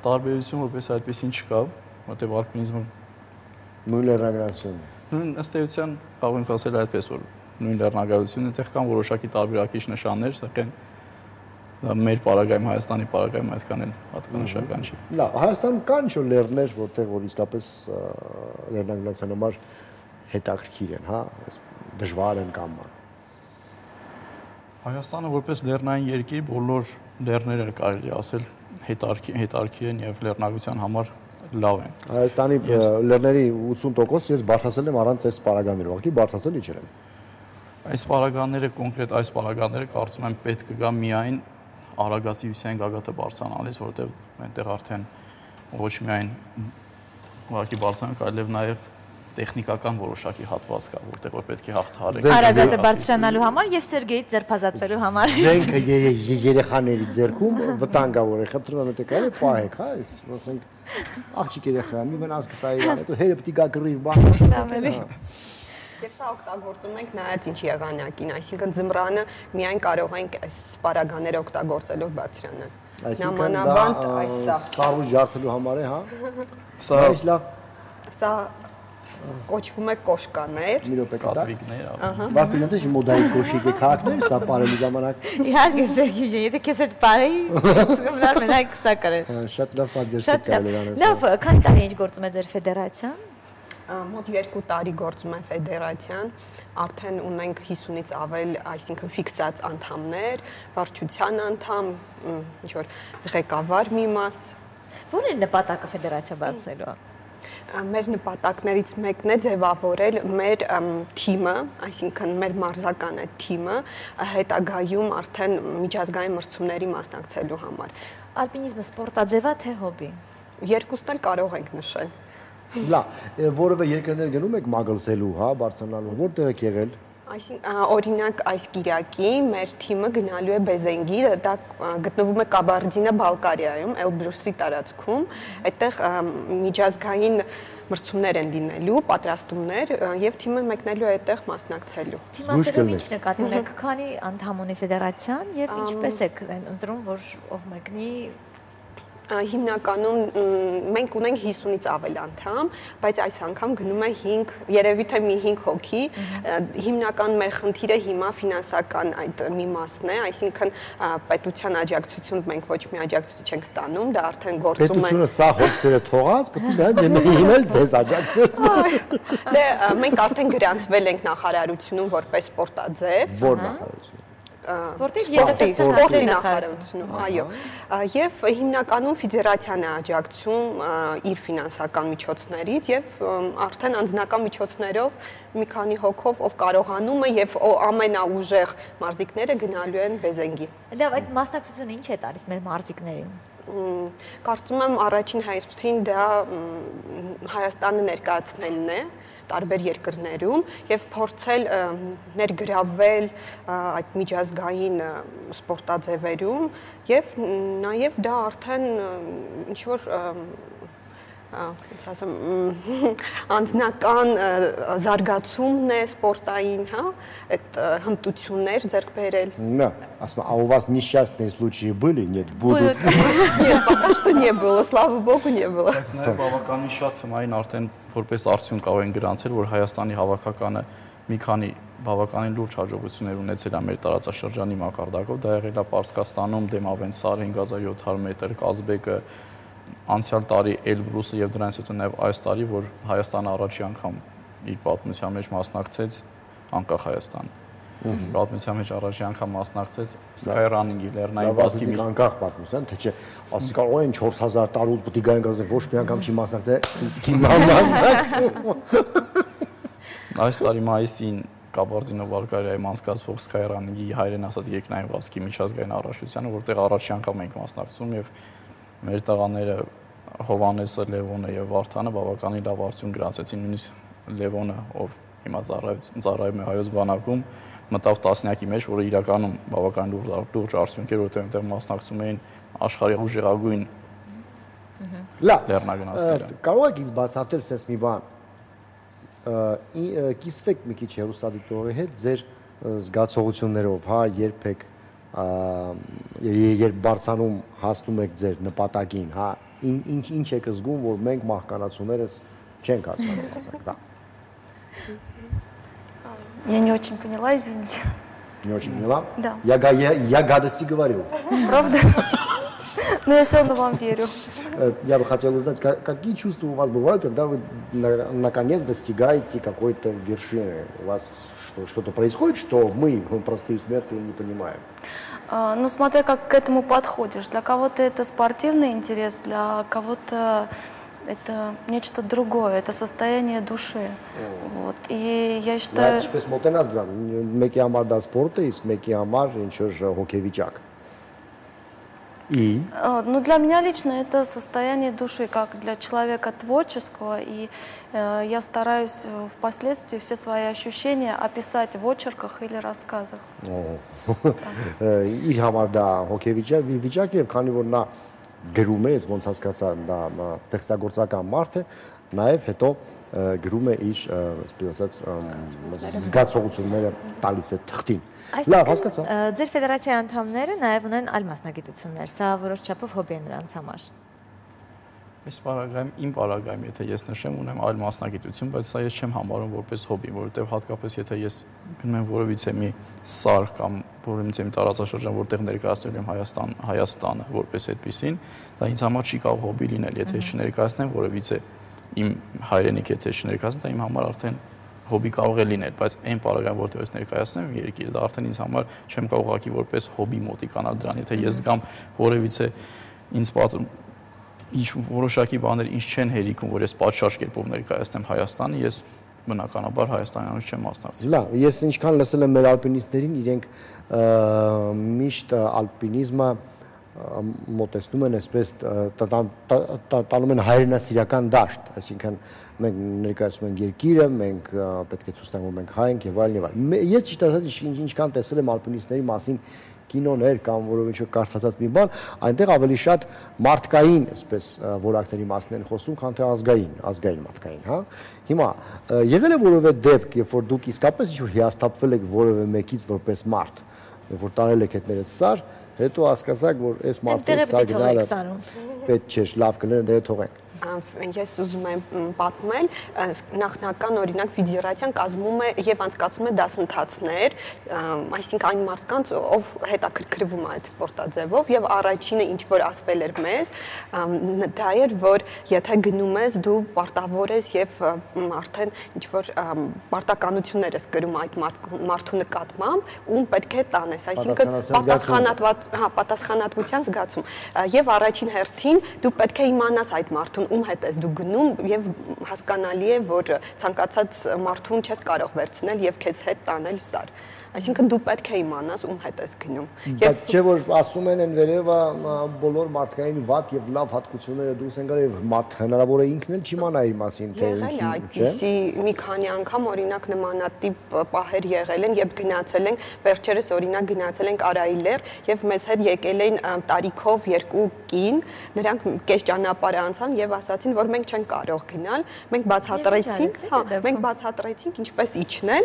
տարբերություն որպես այդպեսին չկա, որտեղ ալպինիզմը նույն լեռնագնացությունն է։ Նույն ըստ էության կարող ենք ասել այդպես, որ նույն լեռնագայությունն այդտեղ կան որոշակի տարբերակիչ նշաններ, սակայն դա մեր պարագայում Հայաստանի պարագայում այդքան էլ հատկանշական չի։ Լավ, Հայաստանում կան ինչ-որ լեռներ, որտեղ որ իսկապես լեռնագնացության համար հետաքրքիր են, հա, դժվար են կամ։ Հայաստանը որպես լեռնային երկիր բոլոր լեռները կարելի ասել հետաքրքիր են եւ լեռնագության համար լավ են։ Հայաստանի լեռների ութսուն տոկոս ես բարթացել եմ առանց այս պարագաներով, ուղղակի բարթացել իջել եմ։ Այս պարագաները, կոնկրետ այս պարագաները կարծում եմ պետք կգա միայն Արագածի Հյուսիսային գագաթը բարձրանալիս, որովհետև այնտեղ արդեն ոչ միայն ուղղակի բարձրանալը, այլև նաև տեխնիկական որոշակի հատված կա, որտեղ որ պետք է հաղթահարեք։ Արագատը բարձրանալու համար եւ Սերգեյից ձերբազատվելու համար։ Մենք երեխաների ձեռքում վտանգավոր է, խնդրում եմ դե կարելի պահեք, հա, այս, ասենք, աղջիկ երեխա, մի մնաց կտայի բան, հետո հերը պիտի գա գրիվ բան։ Եվ սա օգտագործում ենք նայած ինչ եղանակին, այսինքն ձմռանը միայն կարող ենք այս պարագաները օգտագործելով բարձրանալ։ Նամանավանդ այսա։ Սարու ջարդելու համար է, հա։ Սա Սա կոչվում է կոշկաներ։ Մի րոպե կտա։ Կատվիկներ։ Վարդին դե մոդայի կոշիկ է քաղաքներ, սա բարելի ժամանակ։ Իհարկե Սերգեյ ջան, եթե քեզ հետ բարեի, սկսնար մենակ սա կարել։ Շատ լավ պատժեր կարելի անես։ Լավ, քանի տարի ինչ գործում է ձեր ֆեդերացիան։ Մոտ երկու տարի գործում է ֆեդերացիան, արդեն ունենք հիսունից ավել, այսինքն ֆիքսած անդամներ, վարչության անդամ, ինչ որ ղեկավար մի մաս։ Ո՞րն է նպատակը ֆեդերացիա բացելու։ Մեր նպատակներից մեկն է ձևավորել մեր թիմը, այսինքն մեր մարզական այդ թիմը հետագայում արդեն միջազգային մրցումների մասնակցելու համար։ Ալպինիզմը սպորտաձև է թե հոբի։ Երկուսն էլ կարող ենք նշել։ Լավ, որևէ երկրներ գնում եք մագլցելու, հա, բարձրանալու, որտեղ եք եղել։ Այսինքն օրինակ այս Կիրակի մեր թիմը գնալու է Բեզենգի, դա գտնվում է Կաբարդինա-Բալկարիայում, Էլբրուսի տարածքում, այդտեղ միջազգային մրցումներ են լինելու, պատրաստումներ եւ թիմը մեկնելու է այդտեղ մասնակցելու։ Թիմասերում ինչ նկատի ունեք, քանի անդամ ունի ֆեդերացիան եւ ինչպես եք ընտրում, որ ով մեկնի։ Հիմնականում մենք ունենք հիսունից ավել անդամ, բայց այս անգամ գնում է հինգ, երևի թե մի հինգ հոգի, հիմնական մեր խնդիրը հիմա ֆինանսական այդ մի մասն է, այսինքն պետության աջակցություն մենք ոչ մի աջակցություն չենք ստանում, դա արդեն գործում է։ Պետությունը սա հոգսերը թողած, պետք է հիմնել ձեզ աջակցել։ Դե մենք արդեն գրանցվել ենք նախարարությունում որպես սպորտաձև։ Որ նախարարություն։ Սպորտի սպորտի նախարարությունում, այո, եւ հիմնականում ֆեդերացիան է աջակցում իր ֆինանսական միջոցներից եւ արդեն անձնական միջոցներով մի քանի հոգով ով կարողանում է եւ ամենաուժեղ մարզիկները գնալու են Բեզենգի։ Լավ, այդ մասնակցությունը ինչ է տալիս մեր մարզիկներին։ Կարծում եմ առաջին հայացքին դա Հայաստանը ներկայացնելն է տարբեր երկրներում եւ փորձել ներգրավել այդ միջազգային սպորտաձևերում եւ նաեւ դա արդեն ինչ որ ոնց ասեմ անձնական զարգացումն է սպորտային, հա, այդ հմտություններ ձեռք բերել։ Да, ասма, а у вас несчастные случаи были? Нет, будут. Нет, пока что не было, слава богу, не было։ Բայց նաև բավականին շատ հմային արդեն որպես արդյունք կարող են գրանցել, որ Հայաստանի հավաքականը մի քանի բավականին լուրջ հաջողություններ ունեցել է մեր տարածաշրջանի մակարդակով, դա եղել է Պարսկաստանում Դեմավեն Սար հինգ հազար յոթ հարյուր մետր, Կազբեկը անցյալ տարի Էլբրուսը եւ դրանից հետո նաև այս տարի, որ Հայաստանը առաջի անգամ իր պատմության մեջ մասնակցեց անկախ Հայաստան։ Պատմության մեջ առաջի անգամ մասնակցեց Skyrunning-ի լեռնային վազքի մի անկախ պատմության, թե չէ, ասես կարող են չորս հազար տարուց պետք է գային գազը ոչ մի անգամ չի մասնակցել, իսկ հիմա մասնակցում։ Այս տարի մայիսին Կաբարդինո-Բալկարիայում անցկացվող Skyrunning-ի հայերեն ասած երկնային վազքի միջազգային առաջնությանը, որտեղ առաջի անգամ ենք մասնակցում եւ մեր տղաները Հովանեսը, Լևոնը եւ Վարդանը բավականին լավ արդյունք գրանցեցին, նույնիսկ Լևոնը, ով հիմա ծառայում է Հայոց բանակում, մտավ տասնյակի մեջ, որը իրականում բավական լուրջ արդյունք էր, որտեղ այնտեղ մասնակցում էին աշխարհի ուժեղագույն լեռնագնացները։ Կարող եք ինձ բացատրել sense մի բան։ Կիսվեք մի քիչ հեռուստադիտողի հետ ձեր զգացողություններով, հա, երբ եք երբ բարձանում հասնում եք ձեր նպատակին, հա, ինչ ինչ եք զգում, որ մենք մահկանացուներս չենք հասկանում, ասենք, да. Я не очень поняла, извините. Не очень поняла? Да. Я, я, я гадости говорил. Правда? Но я все равно вам верю. Я бы хотел узнать, какие чувства у вас бывают, когда вы наконец достигаете какой-то вершины? У вас что, что-то происходит, что мы, простые смертные, не понимаем? Ну, смотря как к этому подходишь. Для кого-то это спортивный интерес, для кого-то это нечто другое, это состояние души. Вот. И я считаю... Այդ ինչպես մոտենաց բան, մեկի համար դա սպորտ է, իսկ մեկի համար ինչ որ հոգեվիճակ։ И? Ну, для меня лично это состояние души, как для человека творческого, и э, я стараюсь впоследствии все свои ощущения описать в очерках или рассказах. Իր համար դա հոգեվիճակ է, քանի որ նա գրում է, ոնց հասկացա, դա ստեղծագործական մարդ է, նաև հետո գրում է իր, այսպես ասած, զգացողությունները տալիս է թղթին։ Լավ, հասկացա։ Ձեր ֆեդերացիայի անդամները նաև ունեն այլ մասնագիտություններ, սա որոշ չափով հոբի է նրանց համար։ Այս պարագայում, իմ պարագայում, եթե ես նշեմ, ունեմ այլ մասնագիտություն, բայց սա ես չեմ համարում որպես հոբի, որովհետև հատկապես եթե ես գնում եմ որևիցե մի սար կամ որևիցե մի տարածաշրջան, որտեղ ներկայացնել եմ Հայաստան, Հայաստանը որպես այդպեսին, դա ինձ համար չի կարող հոբի լինել, եթե ես չներկայացնեմ որևիցե իմ հայրենիք, եթե ես չներկայացնեմ, դա իմ համար արդեն հոբի կարող է լինել, բայց այն պարագայում, որտեղ ես ներկայացնում եմ երկիրը, դա արդեն ինձ համար չեմ կարող ուղղակի որպես հոբի մոտիկանալ դրան, եթե ես զգամ որևիցե ինձ ինչ որոշակի բաներ ինչ չեն հերիքում, որ ես պատշաճ կերպով ներկայացնեմ Հայաստանը, ես բնականաբար Հայաստանյանից չեմ մասնակցի։ Լավ, ես ինչքան լսել եմ մեր ալպինիստերին, իրենք միշտ ալպինիզմը մոտեցնում են այսպես տանում են հայրենասիրական դաշտ, այսինքն մենք ներկայացնում ենք երկիրը, մենք պետք է ցույց տանք, որ մենք հայ ենք եւ այլն եւ այլն։ Ես ճիշտ ասած ինչքան տեսել եմ ալպինիստների մասին կինոներ կամ որովհետեւ կարդացած մի բան, այնտեղ ավելի շատ մարդկային, այսպես որակների մասին են խոսում, քան թե ազգային, ազգային մարդկային, հա։ Հիմա եղել է որևէ դեպք, երբ որ դուք իսկապես ինչ-որ հիասթափվել եք որևէ մեկից որպես մարդ, երբ որ տարել եք հետներդ սար, հետո հասկացաք, որ այս մարդը սար գնալը պետք չէ, լավ կլինի, դե թողենք։ Ես ուզում եմ պատմել, նախնական օրինակ ֆեդերացիան կազմում է եւ անցկացում է դասընթացներ, այսինքն այն մարդկանց, ով հետաքրքրվում է այդ սպորտաձևով եւ առաջինը ինչ որ ասվել էր մեզ, դա էր, որ եթե գնում ես դու պարտավոր ես եւ արդեն ինչ որ պարտականություններ ես կրում այդ մարդու նկատմամբ, ում պետք է տանես, այսինքն պատասխանատված, հա, պատասխանատվության զգացում եւ առաջին հերթին դու պետք է իմանաս այդ մարդուն ում հետ ես դու գնում եւ հասկանալի է, որ ցանկացած մարդուն չես կարող վերցնել եւ քեզ հետ տանել սար։ Այսինքն դու պետք է իմանաս ում հետ ես գնում։ Եվ չէ որ ասում են են վերևը բոլոր մարդկային վատ եւ լավ հատկությունները դուրս են գալի, մարդ հնարավոր է ինքն էլ չիմանա իր մասին, թե ինչի, այդպիսի մի քանի անգամ օրինակ նմանատիպ պահեր եղել են, երբ գնացել ենք, վերջերս օրինակ գնացել ենք Արայիլեր եւ մեզ հետ եկել էին տարիքով երկու կին, նրանք կես ճանապարհ անցան եւ ասացին, որ մենք չենք կարող գնալ, մենք բացատրեցինք, հա, մենք բացատրեցինք ինչպես իջնել,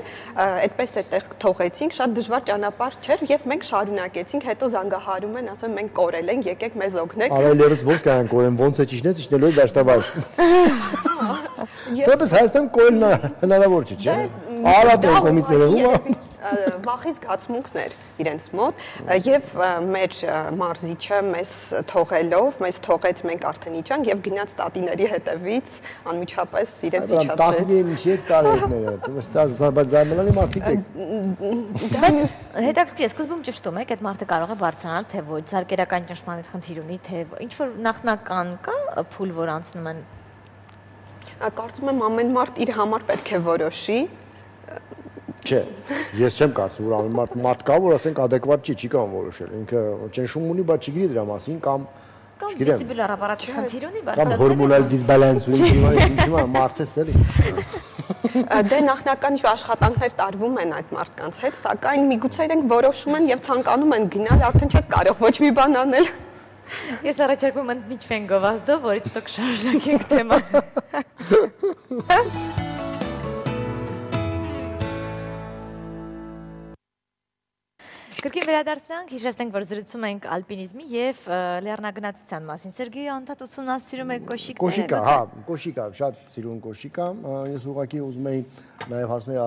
այդպես այդտեղ թողեցինք, շատ դժվար ճանապարհ չէր եւ մենք շարունակեցինք, հետո զանգահարում են, ասում մենք կորել ենք, եկեք մեզ օգնեք։ Արայիլերից ո՞նց կան կորեն, ոնց է ճիշտ իջնելու դաշտավայր։ Դեպս Հայաստան կորելն հնարավոր չէ, չէ՞։ Արատ են կոմից երևում է։ Վախի զգացմունքներ իրենց մոտ եւ մեր մարզիչը մեզ թողելով, մեզ թողեց մենք արդեն իջանք եւ գնաց տատիների հետևից անմիջապես իրենց իջացրեց։ Տատիների միջի հետ տարերները, բայց զարմանալի մարդիկ եք։ Բայց հետաքրքիր է, սկզբում ճշտում եք, այդ մարդը կարող է բարձրանալ թե ոչ, զարգերական ճնշման խնդիր ունի, թե ինչ որ նախնական կա փուլ, որ անցնում են։ Կարծում եմ ամեն մարդ իր համար պետք է որոշի։ Չէ, ես չեմ կարծում, որ ամեն մարդ մարդ կա, որ ասենք adekvat չի, չի կարող որոշել։ Ինքը ճնշում ունի, բայց չգիտի դրա մասին կամ կամ վեստիբուլար ապարատի խնդիր ունի, բարձրացել կամ հորմոնալ դիսբալանս ունի, ինչի՞ մարդես էլի։ Դե նախնական աշխատանքներ տարվում են այդ մարդկանց հետ, սակայն միգուցե իրենք որոշում են եւ ցանկանում են գնալ, արդեն չես կարող ոչ մի բան անել։ Ես առաջարկում եմ միջվենգով ազդով, որից դուք շարունակեք թեման։ Կրկին վերադարձանք, հիշեցնենք, որ զրուցում ենք ալպինիզմի եւ լեռնագնացության մասին։ Սերգեյը անդադ ուսումնասիրում է կոշիկները։ Կոշիկա, հա, կոշիկա, շատ սիրուն կոշիկա։ Ես ուղղակի ուզում էի նաեւ հարցնել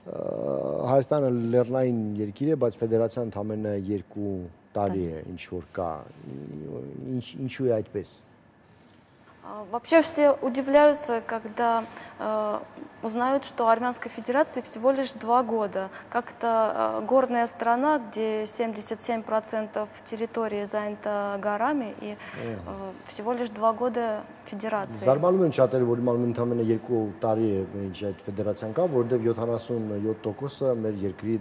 Հայաստանը լեռնային երկիր է, բայց ֆեդերացիան ընդամենը երկու տարի է, ինչ որ կա։ Ինչու է այդպես։ Вообще все удивляются, когда э, узнают, что Армянской Федерации всего лишь два года. Как-то э, горная страна, где семьдесят семь процентов территории занята горами, и э, всего лишь два года Федерации. Զարմանում են շատերը, որ իմանում ընդամենը երկու տարի է ինչ այդ ֆեդերացիան կա, որովհետև յոթանասունյոթ տոկոսը մեր երկրի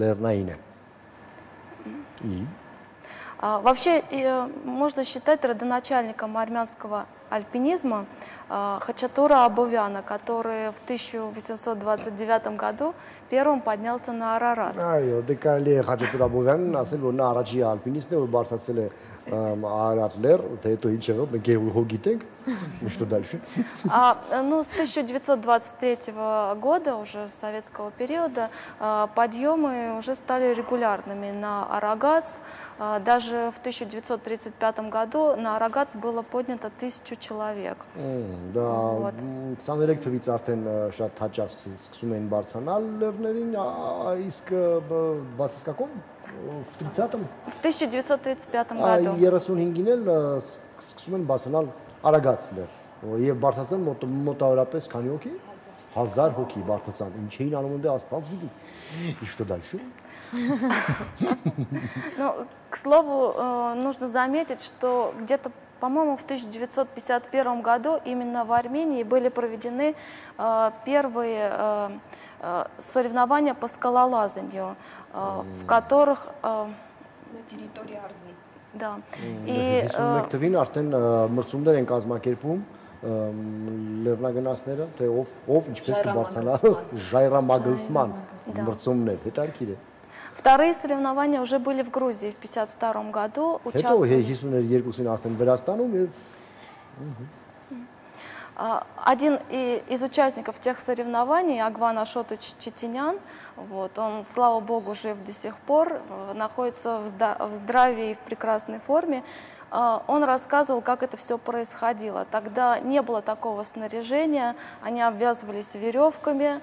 լեռնային է։ Вообще, можно считать родоначальником армянского альпинизма Хачатура Абовяна, который в тысяча восемьсот двадцать девятом году первым поднялся на Арарат. Այո, դե կարելի է Խաչատուր Աբովյանն ասել, որ նա առաջի ալպինիստն է, որ բարդացել է Արարատ լեռ, թե հետո ինչ եղավ, մենք его գիտենք, что дальше. Ну, с тысяча девятьсот двадцать третьего года, уже с советского периода, подъемы уже стали регулярными на Арагац. Даже в тысяча девятьсот тридцать пятом году на Арагац было поднято тысячу человек. Դա քսաներեք թվից արդեն շատ հաճախ սկսում են բարձրանալ լեռներին, իսկ двадцать каком? В тридцатом? В тысяча девятьсот тридцать пятом году. երեսունհինգին էլ սկսում են բարձրանալ Արագած լեռ։ Եվ բարձրացան մոտավորապես քանի հոգի? հազար հոգի բարձրացան։ Ինչ էին անում դե Աստված գիտի։ И что дальше? Ну, к слову, нужно заметить, что где-то, по-моему, в тысяча девятьсот пятьдесят первом году именно в Армении были проведены первые соревнования по скалолазанию, в которых... На территории Арзни. Да. И... Հիսունմեկ արդեն մրցումներ են կազմակերպում լեռնագնացները, թե ով ով ինչպես կբարձրանա ժայռամագլցման մրցումներ, հետաքրքիր է։ Вторые соревнования уже были в Грузии в пятьдесят втором году. Один из участников тех соревнований, Агван Ашотович Четинян, вот, он, слава богу, жив до сих пор, находится в здравии и в прекрасной форме. Он рассказывал, как это все происходило. Тогда не было такого снаряжения, они обвязывались веревками,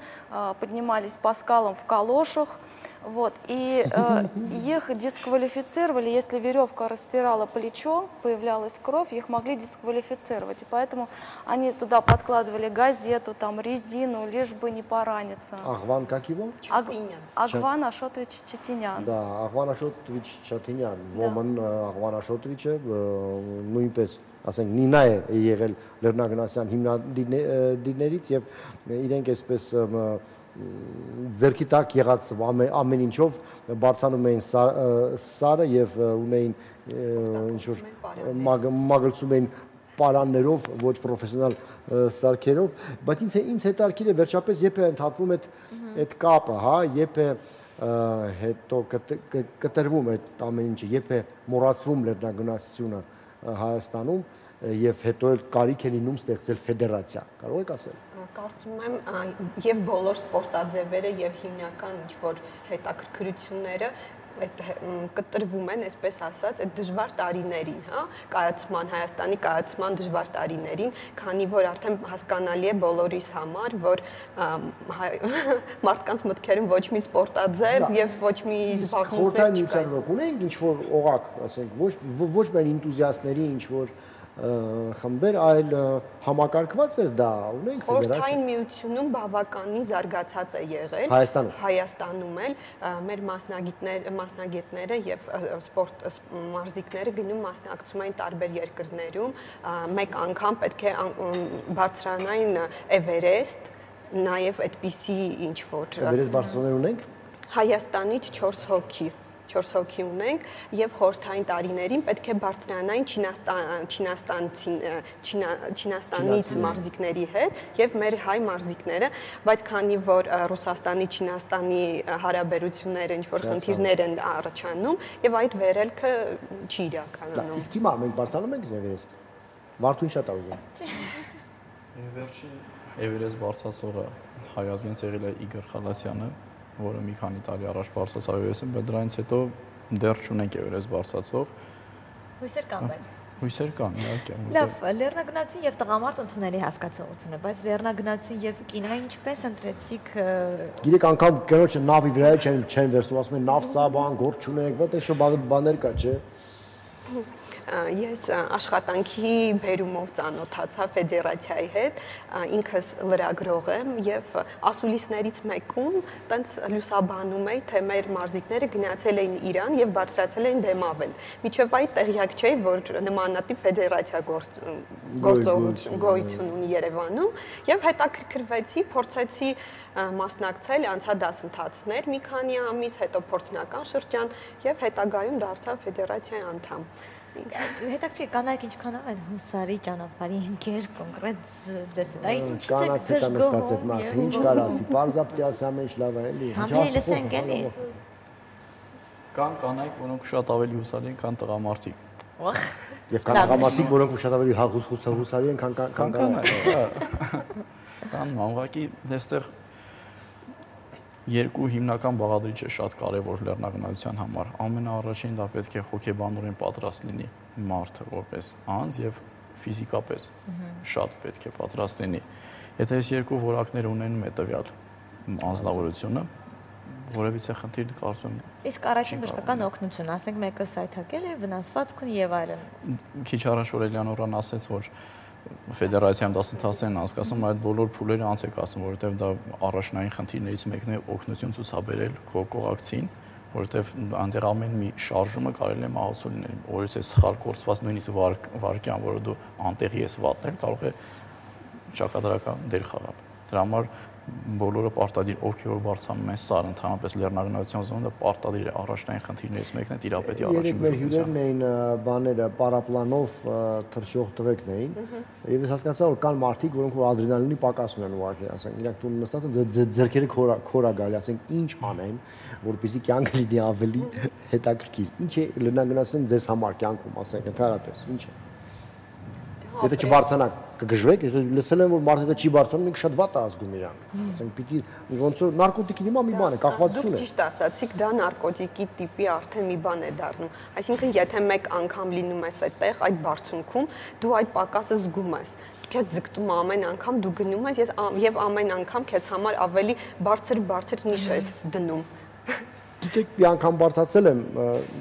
поднимались по скалам в калошах. Вот, и э, их дисквалифицировали, если веревка растирала плечо, появлялась кровь, их могли дисквалифицировать. И поэтому они туда подкладывали газету, там, резину, лишь бы не пораниться. Агван как его? Аг... Агван Ашотович Четинян. Да, Агван Ашотович Четинян. Ոմն Agvan Ashotовичը նույնպես ասենք Նինա է եղել լեռնագնացության հիմնադիրներից եւ իրենք այսպես ձերքի տակ եղած ամեն ինչով բարձանում էին սարը եւ ունեին ինչ որ մագլցում էին պարաններով, ոչ պրոֆեսիոնալ սարքերով, բայց ինձ ինձ հետաքրքիր է վերջապես երբ է ընդհատվում այդ այդ կապը, հա, երբ է հետո կտրվում այդ ամեն ինչը, երբ է մոռացվում լեռնագնացությունը Հայաստանում եւ հետո էլ կարիք է լինում ստեղծել ֆեդերացիա։ Կարող եք ասել։ Կարծում եմ եւ բոլոր սպորտաձևերը եւ հիմնական ինչ որ հետաքրքրությունները այդ կտրվում են, այսպես ասած, այդ դժվար տարիներին, հա, կայացման Հայաստանի կայացման դժվար տարիներին, քանի որ արդեն հասկանալի է բոլորիս համար, որ մարդկանց մտքերում ոչ մի սպորտաձև եւ ոչ մի զբաղմունքներ չկան։ Ունենք ինչ որ օղակ, ասենք, ոչ ոչ միայն ինտուզիաստների ինչ որ խմբեր, այլ համակարգված էր դա, ունենք ֆեդերացիա։ Խորհրդային միությունում բավականին զարգացած է եղել։ Հայաստանում։ Հայաստանում էլ մեր մասնագետներ, մասնագետները եւ սպորտ մարզիկները գնում մասնակցում են տարբեր երկրներում, մեկ անգամ պետք է բարձրանային Էվերեստ, նաեւ այդպիսի ինչ որ Էվերեստ բարձրաներ ունենք։ Հայաստանից չորս հոգի չորս հոգի ունենք եւ խորհրդային տարիներին պետք է բարձրանային Չինաստանից մարզիկների հետ եւ մեր հայ մարզիկները, բայց քանի որ Ռուսաստանի Չինաստանի հարաբերությունները ինչ որ խնդիրներ են առաջանում եւ այդ վերելքը չի իրականանում։ Իսկ հիմա մենք բարձրանում ենք Էվերեստ։ Վարդուն շատ աղում։ Վերջին Էվերեստ բարձրացողը հայազգանց եղել է Իգոր Խալասյանը, որը մի քանի տարի առաջ բարձրացավ Էվերեստը, բայց դրանից հետո դեռ չունենք Էվերեստ բարձրացող։ Հույսեր կան բայց։ Հույսեր կան, իհարկե։ Լավ, լեռնագնացություն եւ տղամարդ ընդունելի հասկացողություն է, բայց լեռնագնացություն եւ կինա ինչպես ընտրեցիք։ Գիտեք, անգամ կնոջը նավի վրա չեն չեն վերցնում, ասում են նավ սա բան, գործ չունեք, բայց այսօր բաներ կա, չէ։ ես աշխատանքի բերումով ծանոթացա ֆեդերացիայի հետ, ինքս լրագրող եմ եւ ասուլիսներից մեկում տենց լուսաբանում էի, թե մեր մարզիկները գնացել էին Իրան եւ բարձրացել էին դեմավել։ Միջև այդ տեղյակ չէի, որ նմանատիպ ֆեդերացիա գործողություն գոյություն ունի Երևանում եւ հետաքրքրվեցի, փորձեցի մասնակցել, անցա դասընթացներ մի քանի ամիս, հետո փորձնական շրջան եւ հետագայում դարձա ֆեդերացիայի անդամ։ Հետաքրքիր կանայք ինչքանով են հուսարի ճանապարհի ընկեր կոնկրետ ձեզ հետ, այ ինչ կանայք հետ եմ ստացել մարդը, ինչ կարասի, պարզապետի ասամ ինչ լավ է, էլի։ Համերի լսենք էլի։ Կան կանայք, որոնք շատ ավելի հուսալի են, քան տղամարդիկ։ Եվ կան տղամարդիկ, որոնք շատ ավելի հուսալի են, քան կանայք։ Կան ուղղակի այստեղ երկու հիմնական բաղադրիչ է շատ կարևոր լեռնագնացության համար։ Ամենաառաջին դա պետք է հոգեբանորեն պատրաստ լինի մարդը որպես անձ եւ ֆիզիկապես շատ պետք է պատրաստ լինի։ Եթե այս երկու որակները ունենում է տվյալ անձնավորությունը, որևիցե խնդիր կարծում եմ։ Իսկ առաջին բժշկական օգնություն, ասենք մեկը սայթակել է, վնասվածք ունի եւ այլն։ Քիչ առաջ որ Էլիանորան ասեց, որ ֆեդերացիայում դասընթացներն անցկացնում, այդ բոլոր փուլերը անց եք ասում, որովհետև դա առաջնային խնդիրներից մեկն է օգնություն ցուցաբերել քո կողակցին, որովհետև այնտեղ ամեն մի շարժումը կարելի է մահացու լինել։ Օրից է սխալ կորցված նույնիսկ վարկյան, որը դու անտեղի ես վատնել, կարող է ճակատագրական դեր խաղալ։ Դրա համար բոլորը պարտադիր ովքեր որ բարձրանում են սար ընդհանրապես լեռնագնացության զոնը պարտադիր է առաջնային խնդիրներից մեկն է տիրապետի առաջին բժշկության։ Երեք մեր հյուրերն էին բաները պարապլանով թռչող տղեկն էին եւ ես հասկացա որ կան մարդիկ որոնք որ ադրենալինի պակաս ունեն ուղղակի ասենք իրանք տուն նստած են ձեռքերը քորա գալի ասենք ինչ անեն որպեսզի կյանքը լինի ավելի հետաքրքիր ինչ է լեռնագնացության ձեզ համար կյանքում ասենք ընդհանրապես ինչ է Եթե չբարձրանաք կգժվեք, եթե լսել եմ որ մարդը չի բարձրանում, ինքը շատ վատ է ազգում իրան։ Ասենք պիտի ոնց որ նարկոտիկի հիմա մի բան է, կախվածություն է։ Դուք ճիշտ ասացիք, դա նարկոտիկի տիպի արդեն մի բան է դառնում։ Այսինքն եթե մեկ անգամ լինում ես այդտեղ, այդ բարձունքում, դու այդ պակասը զգում ես։ Քեզ ձգտում է ամեն անգամ դու գնում ես եւ ամեն անգամ քեզ համար ավելի բարձր-բարձր նիշ ես դնում։ Գիտեք, մի անգամ բարձրացել եմ,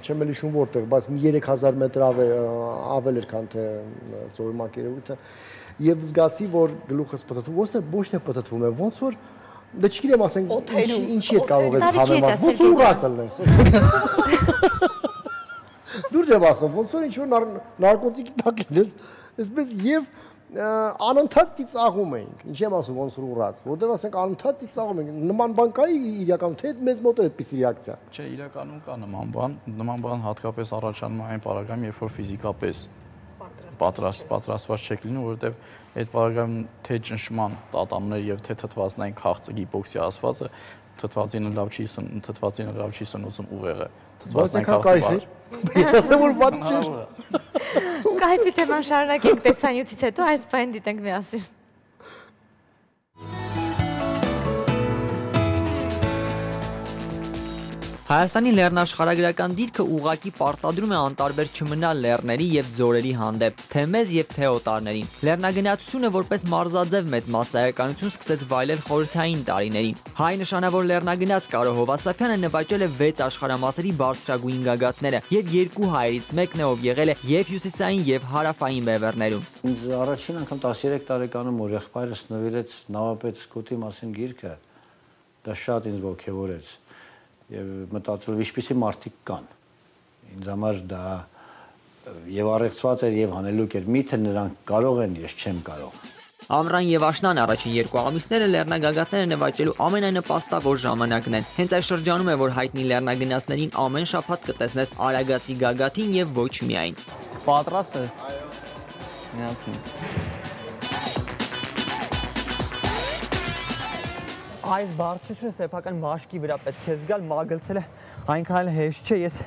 չեմ էլ հիշում որտեղ, բայց մի երեք հազար մետր ավել էր, քան թե ծովի մակերևույթը, եւ զգացի, որ գլուխս պտտվում, ոնց է ոչ թե պտտվում է, ոնց որ դե չգիտեմ, ասենք, ինչի հետ կարող ես հավելված, ոնց որ ուռած ելնես։ Դուրս եմ ասում, ոնց որ ինչ որ նարկոտիկի տակ ես, այսպես եւ անընդհատ ծիծաղում էինք։ Ինչ եմ ասում ոնց որ ուռած, որտեղ ասենք անընդհատ ծիծաղում ենք։ Նման բան կա իրականում թե մեծ մոտ է այդպիսի ռեակցիա։ Չէ, իրականում կա նման բան, նման բան հատկապես առաջանում է այն պարագայում, երբ որ ֆիզիկապես պատրաստ պատրաստված չեք լինում, որովհետև այդ պարագայում թե ճնշման տատաններ եւ թե թթվածնային քաղցկի բոքսի ասվածը թթվածինը լավ չի սն թթվածինը լավ չի սնուցում ուղեղը։ Թթվածնային քաղցկի։ Ես ասեմ որ բան չէ։ Կայֆի թեման շարունակենք տեսանյութից հետո այս բան դիտենք միասին։ Հայաստանի լեռնաշխարհագրական դիրքը ուղղակի պարտադրում է անտարբեր չմնալ լեռների եւ ձորերի հանդեպ, թե մեզ եւ թե օտարներին։ Լեռնագնացությունը որպես մարզաձև մեծ մասսայականություն սկսեց վայելել խորհրդային տարիներին։ Հայ նշանավոր լեռնագնաց Կարո Հովասափյանը նվաճել է վեց աշխարհամասերի բարձրագույն գագաթները եւ երկու հայերից մեկն է, ով եղել է եւ հյուսիսային եւ հարավային բևեռներում։ Ինձ առաջին անգամ տասներեք տարեկանում որ եղբայրս նվիրեց Նավապետ Սկոտի մասին գիրքը, դա շատ ինձ ոգևորեց։ Եվ մտածել ինչպիսի մարդիկ կան։ Ինձ համար դա եւ առեղծված էր եւ հանելուկ էր։ Միթե նրանք կարող են, ես չեմ կարող։ Ամռան եւ աշնան առաջին երկու ամիսները լեռնագագաթները նվաճելու ամենանպաստավոր ժամանակն են։ Հենց այս շրջանում է, որ հայտնի լեռնագնացներին ամեն շաբաթ կտեսնես Արագածի գագաթին եւ ոչ միայն։ Պատրաստ ես։ Այո։ Միացնի։ Այս բարձրությունը սեփական մաշկի վրա պետք է զգալ, մագլցելը այնքան հեշտ չէ, ես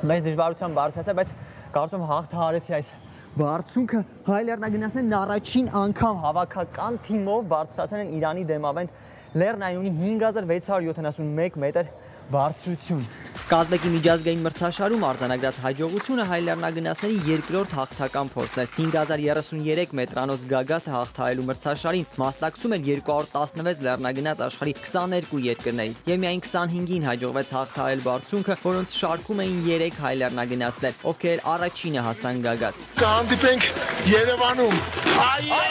մեծ դժվարությամբ բարձրացա, բայց կարծում հաղթահարեցի այս բարձունքը։ Հայ լեռնագնացներն առաջին անգամ հավաքական թիմով բարձրացան են Իրանի դեմավենդ լեռնային ունի հինգ հազար վեց հարյուր յոթանասունմեկ մետր, բարձրություն։ Կազբեկի միջազգային մրցաշարում արձանագրած հաջողությունը հայ լեռնագնացների երկրորդ հաղթական փորձն էր։ հինգ հազար երեսուներեք մետրանոց գագաթը հաղթահարելու մրցաշարին մասնակցում էր երկու հարյուր տասնվեց լեռնագնաց աշխարհի քսաներկու երկրներից եւ միայն քսանհինգին հաջողվեց հաղթահարել բարձունքը, որոնց շարքում էին երեք հայ լեռնագնացներ, ովքեր առաջինը հասան գագաթ։ Կհանդիպենք Երևանում։ Այո։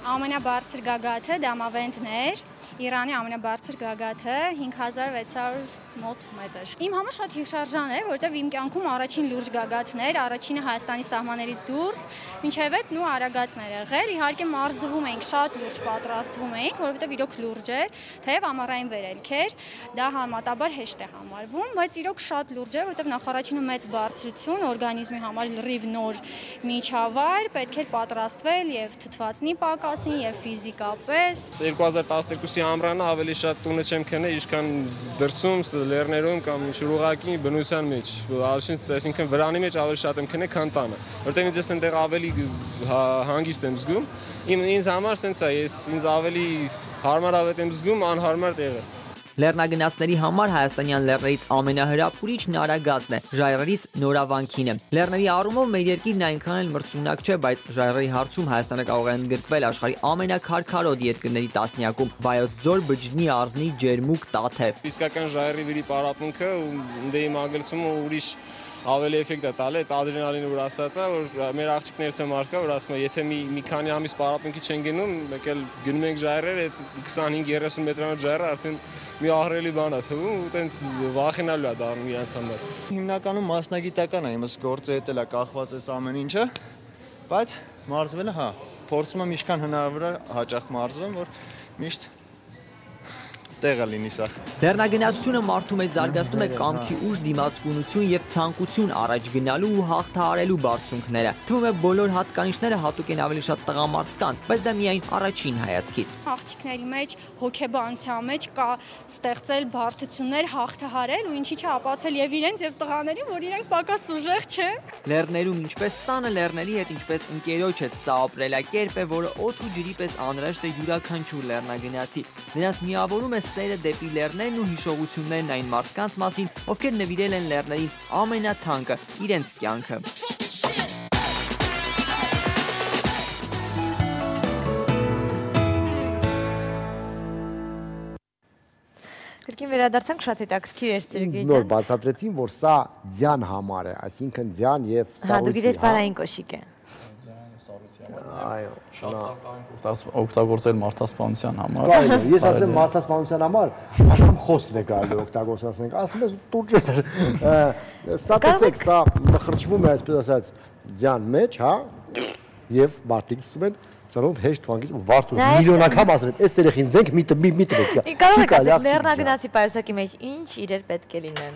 Ամենաբարձր գագաթը դամավենդն էր, Իրանի ամենաբարձր գագաթը հինգ հազար վեց հարյուր մոտ մետր։ Իմ համար շատ հիշարժան էր, որովհետև իմ կյանքում առաջին լուրջ գագաթն էր, առաջինը Հայաստանի սահմաններից դուրս, մինչև այդ նու արագածներ եղել, իհարկե մարզվում էինք, շատ լուրջ պատրաստվում էինք, որովհետև իրոք լուրջ էր, թեև ամառային վերելք էր, դա համատաբար հեշտ է համարվում, բայց իրոք շատ լուրջ էր, որովհետև նախարարինը մեծ բարձրություն, օրգանիզմի համար լրիվ նոր միջավայր, պետք էր պատրաստվել եւ թթվածնի պակասին եւ ֆիզիկապես։ երկու հազար տասներկուսի ամռանը ավելի շատ տունը չեմ քնել, ինչքան դրսում լեռներում կամ ինչ-որ ուղղակի բնության մեջ, այսինքն վրանի մեջ ավելի շատ եմ քնել, քան տանը, որտեղ ինձ այնտեղ ավելի հանգիստ եմ զգում։ Ինձ համար սենց է, ես ինձ ավելի հարմարավետ եմ զգում անհարմար տեղը։ Լեռնագնացների համար հայաստանյան լեռներից ամենահրապուրիչն Արագածն է, ժայռերից Նորավանքինը։ Լեռների առումով մեր երկիրն այնքան էլ մրցունակ չէ, բայց ժայռերի հարցում Հայաստանը կարող է ընդգրկվել աշխարհի ամենաքարքարոտ երկրների տասնյակում՝ Վայոց ձոր, Բջջնի, Արզնի, Ջերմուկ, Տաթև։ Իսկական ժայռի վիրի պարապմունքը դե իմ ագլցումը ուրիշ ավելի էֆեկտ է տալի, այդ ադրենալինը որ ասած է, որ մեր աղջիկներից եմ արկա, որ ասում է, եթե մի մի քանի ամիս պարապմունքի չեն գնում, մեկ էլ գնում ենք ժայռեր, այդ քսանհինգ երեսուն մետրանոց ժայռը արդեն մի ահռելի բան է թվում, ու տենց վախենալու է դառնում իրանց համար։ Հիմնականում մասնագիտական է, իմս գործը հետ էլ է կախված էս ամեն ինչը, բայց մարզվելը, հա, փորձում եմ ինչքան հնարավոր է հաճախ մարզվեմ, որ միշտ տեղը լինի սա։ Լեռնագնացությունը մարդու մեջ զարգացնում է կամքի ուժ, դիմացկունություն եւ ցանկություն առաջ գնալու ու հաղթահարելու բարձունքները։ Թվում է բոլոր հատկանիշները հատուկ են ավելի շատ տղամարդկանց, բայց դա միայն առաջին հայացքից։ Աղջիկների մեջ հոգեբանության մեջ կա ստեղծել բարդություններ, հաղթահարել ու ինչի՞ չապացել եւ իրենց եւ տղաներին, որ իրենք պակաս ուժեղ չեն։ Լեռներում ինչպես տանը լեռների հետ ինչպես ընկերոջ հետ սա ապրելակերպ է, որը օդ ու ջրի պես անհրաժեշտ է յուրաքանչյուր լեռնագնացի։ Նրանց միավորում է սերը դեպի լեռներն ու հիշողություններն այն մարդկանց մասին, ովքեր նվիրել են լեռներին ամենաթանկը՝ իրենց կյանքը։ Կրկին վերադարձանք, շատ հետաքրքիր էր Սերգեյ ջան։ Նոր բացատրեցին, որ սա ձյան համար է, այսինքն ձյան եւ սառույցի։ Հա, դու գիտես բարային կոշիկ է։ Այո, շատ օգտագործել մարդասպանության համար։ Կարելի է, ես ասեմ մարդասպանության համար, աշամ խոսքն է կարելի օգտագործել, ասենք, ասում ես տուրջեր։ Սա տեսեք, սա մխրճվում է, այսպես ասած, ձյան մեջ, հա, եւ մարդիկ ասում են ծանոթ հեշտ թվանգից ու վարդու միլիոնակամ ասել, այս երեխին զենք մի մի տվեք։ Կարող եք ասել լեռնագնացի պայուսակի մեջ ինչ իրեր պետք է լինեն։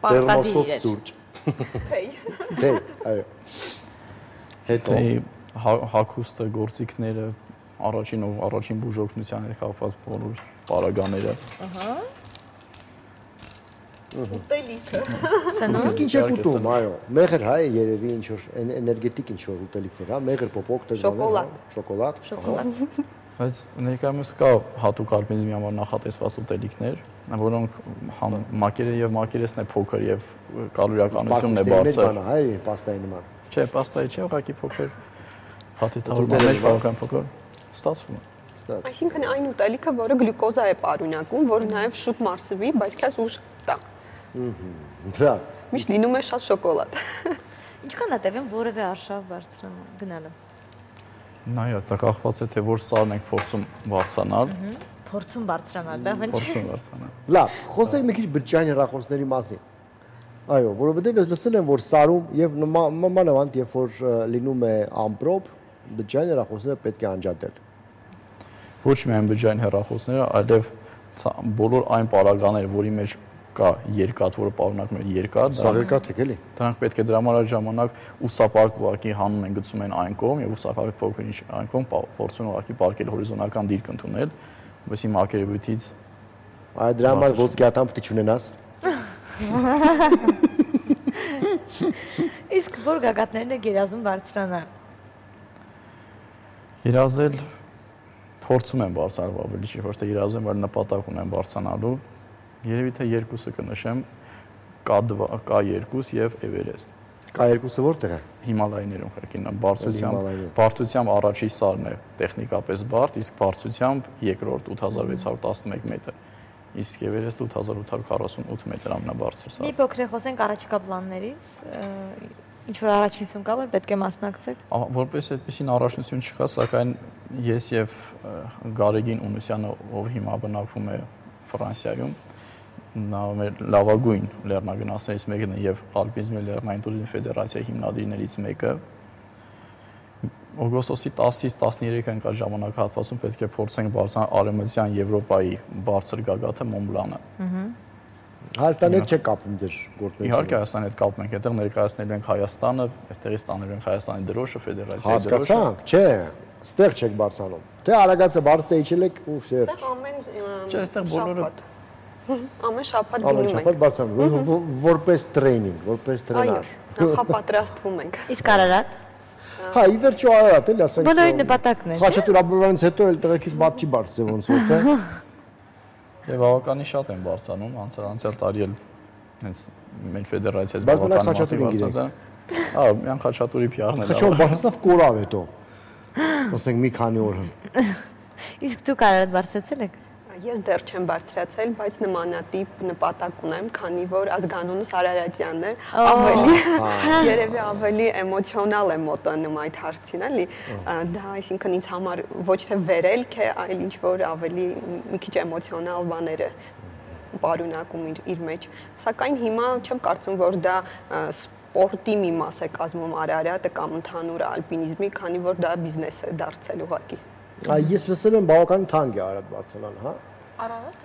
Պարտադիր իրեր։ Սուրճ։ Թեյ։ Թեյ, այո։ Հետո հագուստը, գործիքները, առաջին ու առաջին բուժօգնության հետ կապված բոլոր պարագաները։ Ահա։ Ուտելիքը։ Իսկ ինչ է ուտում, այո։ Մեղր հայ է երևի ինչ որ էներգետիկ ինչ որ ուտելիքներ, հա, մեղր պոպոկ դժվար, շոկոլադ, շոկոլադ։ Բայց ներկայումս կա հատուկ օրգանիզմի համար նախատեսված ուտելիքներ, որոնք մակերը եւ մակերեսն է փոքր եւ կալորիականությունն է բարձր։ Հայ է պաստայի նման։ Չէ, պաստայի չէ, ուղղակի փոքր հաթիթավորման մեջ բավական փոքր ստացվում է։ Այսինքն այն ուտելիքը, որը գլյուկոզա է պարունակում, որը նաև շուտ մարսվի, բայց քեզ ուժ տա։ Դա։ Միշտ լինում է շատ շոկոլադ։ Ինչքան է տևում որևէ արշավ բարձրանալ, գնալը։ Նայած, դա կախված է թե որ սարն ենք փորձում բարձրանալ։ Փորձում բարձրանալ, լավ ինչ։ Փորձում բարձրանալ։ Լավ, խոսենք մի քիչ բջջային հեռախոսների մասին։ Այո, որովհետև ես լսել եմ, որ սարում եւ մանավանդ երբ որ լինում է ամպրոպ, բջջային հեռախոսները պետք է անջատել։ Ոչ միայն բջջային հեռախոսները, այլև բոլոր այն պարագաները, որի մեջ կա երկաթ, որը պարունակում է երկաթ, սա երկաթ է, էլի։ Դրանք պետք է դրա համար ժամանակ ուսապարկ ուղղակի հանում են գցում են այն կողմ եւ ուսապարկ փոքր ինչ այն կողմ փորձում ուղղակի պարկել հորիզոնական դիրք ընդունել, որովհետեւ մակերևույթից այ դրա համար ոսկեատան պետք է ունենաս։ Իսկ որ գագաթներն է գերազում բարձրանալ։ Երազել փորձում եմ բարձրանալ ավելի չի, ոչ թե երազում, այլ նպատակ ունեմ բարձրանալու։ Երևի թե երկուսը կնշեմ, K երկու եւ Everest։ K երկուսը որտեղ է։ Հիմալայներում խրկին, բարձրությամբ, բարձրությամբ առաջի սարն է տեխնիկապես բարդ, իսկ բարձրությամբ երկրորդ ութ հազար վեց հարյուր տասնմեկ մետր։ Իսկ Everest ութ հազար ութ հարյուր քառասունութ մետր ամենաբարձր սարը։ Մի փոքր խոսենք առաջիկա պլաններից, ինչ որ առաջնություն կա, որ պետք է մասնակցեք։ Որպես այդպեսին առաջնություն չկա, սակայն ես եւ Գարեգին Ունուսյանը, ով հիմա բնակվում է Ֆրանսիայում, նա մեր լավագույն լեռնագնացներից մեկն է եւ Ալպինիզմի լեռնային տուրիզմի ֆեդերացիայի հիմնադիրներից մեկը։ Օգոստոսի տասից տասներեք ընկած ժամանակահատվածում պետք է փորձենք բարձրանալ Արևմտյան Եվրոպայի բարձր գագաթը Մոնբլանը։ Հայաստանի հետ չեք կապում ձեր գործունեությունը։ Իհարկե Հայաստանի հետ կապում ենք, այդտեղ ներկայացնելու ենք Հայաստանը, այստեղից տանելու ենք Հայաստանի դրոշը, ֆեդերացիայի դրոշը։ Հասկացանք, չէ, ստեղ չեք բարձրանում։ Թե արագացը բարձր իջել եք ու ֆեր։ Ստեղ ամեն Չէ, այստեղ բոլորը ամեն շաբաթ Ամեն գնում ենք։ շաբաթ բարձրանում, որպես տրեյնինգ, որպես տրենար։ Այո, նախապատրաստվում ենք։ Իսկ Արարատ։ Հա, ի վերջո Արարատ էլի ասենք։ Բոլորի նպատակն է։ Խաչատուր Աբովյանից հետո էլ տեղեկից բաց չի բարձր ոնց որ թե։ Եվ բավականին շատ են բարձրանում, անցյալ անցյալ տարի էլ հենց մեր ֆեդերացիայից բավականին մարդիկ բարձրացան։ Հա, միան Խաչատուրի փիառն է։ Խաչատուրը բարձրացավ կորավ հետո։ Ասենք մի քանի օր։ Իսկ դուք Արարատ բարձրացել եք։ Ես դեռ չեմ բարձրացել, բայց նմանատիպ նպատակ ունեմ, քանի որ ազգանունս Արարատյանն է, ավելի երևի ավելի էմոցիոնալ է մոտենում այդ հարցին, էլի։ Դա այսինքն ինձ համար ոչ թե վերելք է, այլ ինչ որ ավելի մի քիչ էմոցիոնալ բաներ է պարունակում իր, իր մեջ։ Սակայն հիմա չեմ կարծում, որ դա սպորտի մի մաս է կազմում Արարատը կամ ընդհանուր ալպինիզմի, քանի որ դա բիզնես է դարձել ուղղակի։ Ես լսել եմ բավական թանկ է Արարատ բարձրանալ, հա։ Արարատ։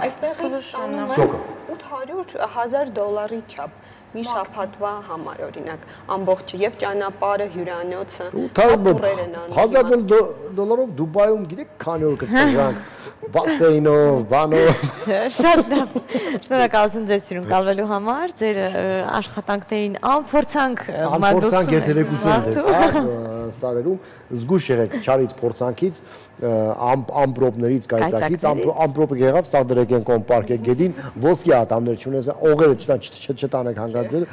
Այստեղ ութ հարյուր հազար դոլարի չափ մի շաբաթվա համար օրինակ ամբողջ եւ ճանապարհը հյուրանոցը ապուրեր են անում հազար դոլարով Դուբայում գիտեք քանի օր կտրանք բասեյնով բանով շատ լավ շնորհակալություն ձեզ սիրուն կալվելու համար ձեր աշխատանքներին անփորձանք անփորձանք երթևեկություն ձեզ հա սարերում զգուշ եղեք չարից փորձանքից ամպրոպներից կայծակից ամպրոպը եղավ սա դրեք են կոմպարկեք գետին ոսկի ատամներ չունես օղերը չտանեք հանգարձել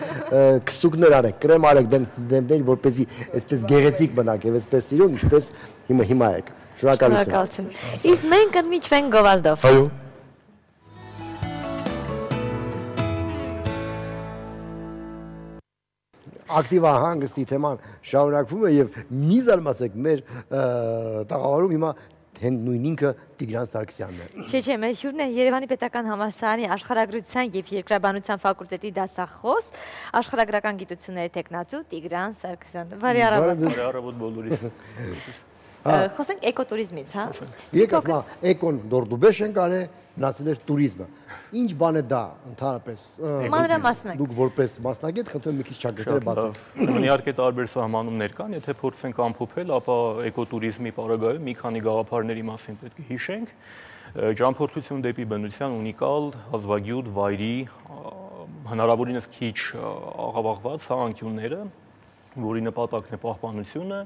քսուկներ արեք կրեմ արեք դեմքներին որպեսզի այսպես գեղեցիկ մնաք եւ այսպես սիրուն ինչպես հիմա հիմա եք շնորհակալություն իսկ մենք կմիջվենք գովազդով այո ակտիվա հանգստի թեման շարունակվում է եւ մի զարմացեք մեր տաղավարում հիմա հենց նույն ինքը Տիգրան Սարգսյանն է։ Չէ, չէ, մեր հյուրն է Երևանի Պետական Համալսարանի աշխարհագրության եւ երկրաբանության ֆակուլտետի դասախոս, աշխարհագրական գիտությունների տեխնացու Տիգրան Սարգսյանը։ Բարի առավոտ։ Բարի առավոտ բոլորիս։ Խոսենք էկոտուրիզմից, հա։ Եկեք ասма էկոն դորդուբեշ են կարե մնացել էր տուրիզմը։ Ինչ բան է դա ընդհանրապես։ Մանրամասնակ։ Դուք որպես մասնագետ խնդրում եմ մի քիչ ճակատները բացեք։ Ուրեմն իհարկե տարբեր սահմանումներ կան, եթե փորձենք ամփոփել, ապա էկոտուրիզմի պարագայում մի քանի գաղափարների մասին պետք է հիշենք։ Ճամփորդություն դեպի բնության ունիկալ, հազվագյուտ վայրի, հնարավորինս քիչ աղավաղված անկյունները, որի նպատակն է պահպանությունը,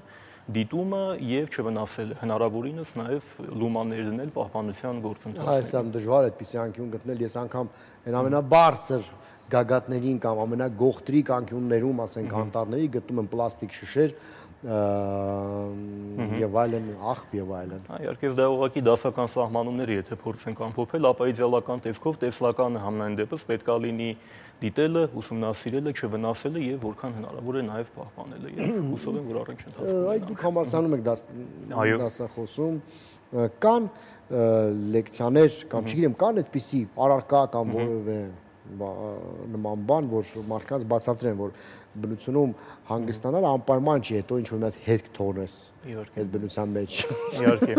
դիտումը եւ չվնասելը, հնարավորինս նաեւ լումաներ դնել պահպանության գործընթացին։ Այսօր դժվար է այդպիսի անկյուն գտնել, ես անգամ այն ամենաբարձր գագաթներին կամ ամենագողտրիկ անկյուններում, ասենք անտառների գտնում եմ պլաստիկ շշեր եւ այլն, աղբ եւ այլն։ Իհարկե դա ուղղակի դասական սահմանումներ է, եթե փորձենք ամփոփել, ապա իդեալական տեսքով տեսլականը համենայն դեպս պետք է լինի դիտելը, ուսումնասիրելը, չվնասելը եւ որքան հնարավոր է նաեւ պահպանելը եւ հուսով եմ որ առանց ընթացքում։ Այդ դուք համալսարանում եք դասախոսում, կան լեկցիաներ կամ չգիտեմ, կան այդպիսի առարկա կամ որևէ նման բան, որ մարդկանց բացատրեն, որ բնությունում հանգստանալ անպայման չի, հետո ինչ-որ մի հատ հետք թողնես այդ բնության մեջ։ Իհարկե։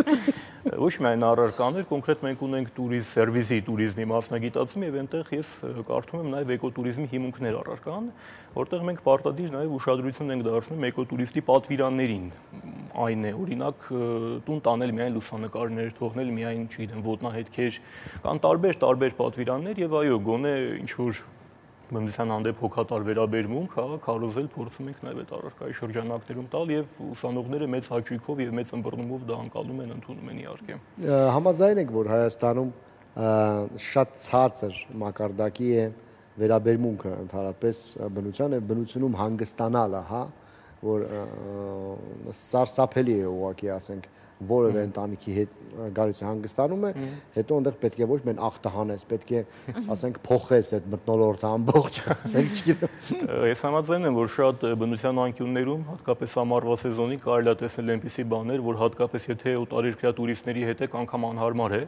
Ոչ միայն առարկաներ, կոնկրետ մենք ունենք տուրիզմ սերվիսի տուրիզմի մասնագիտացում եւ այնտեղ ես կարդում եմ նաեւ էկոտուրիզմի հիմունքներ առարկան, որտեղ մենք պարտադիր նաեւ ուշադրություն ենք դարձնում էկոտուրիստի պատվիրաններին։ Այն է, օրինակ, տուն տանել միայն լուսանկարներ, թողնել միայն, չգիտեմ, ոտնահետքեր, կան տարբեր տարբեր պատվիրաններ եւ այո, գոնե ինչ որ բնության հանդեպ հոգատար վերաբերմունք, հա, քարոզել փորձում ենք նաև այդ առարկայի շրջանակներում տալ եւ ուսանողները մեծ հաճույքով եւ մեծ ըմբռնումով դա անցալում են, ընդունում են իհարկե։ Համաձայն եք, որ Հայաստանում շատ ցածր մակարդակի է վերաբերմունքը ընդհանրապես բնությանը, բնությունում հանգստանալը, հա, որ սարսափելի է ուղղակի, ասենք, որևէ ընտանիքի հետ գալիս է հանգստանում է, հետո այնտեղ պետք է ոչ միայն ախտահանես, պետք է, ասենք, փոխես այդ մթնոլորտը ամբողջ, Ես համաձայն եմ, որ շատ բնության անկյուններում, հատկապես ամառվա սեզոնին կարելի է տեսնել այնպիսի բաներ, որ հատկապես եթե օտարերկրյա տուրիստների հետ եք, անգամ անհարմար է,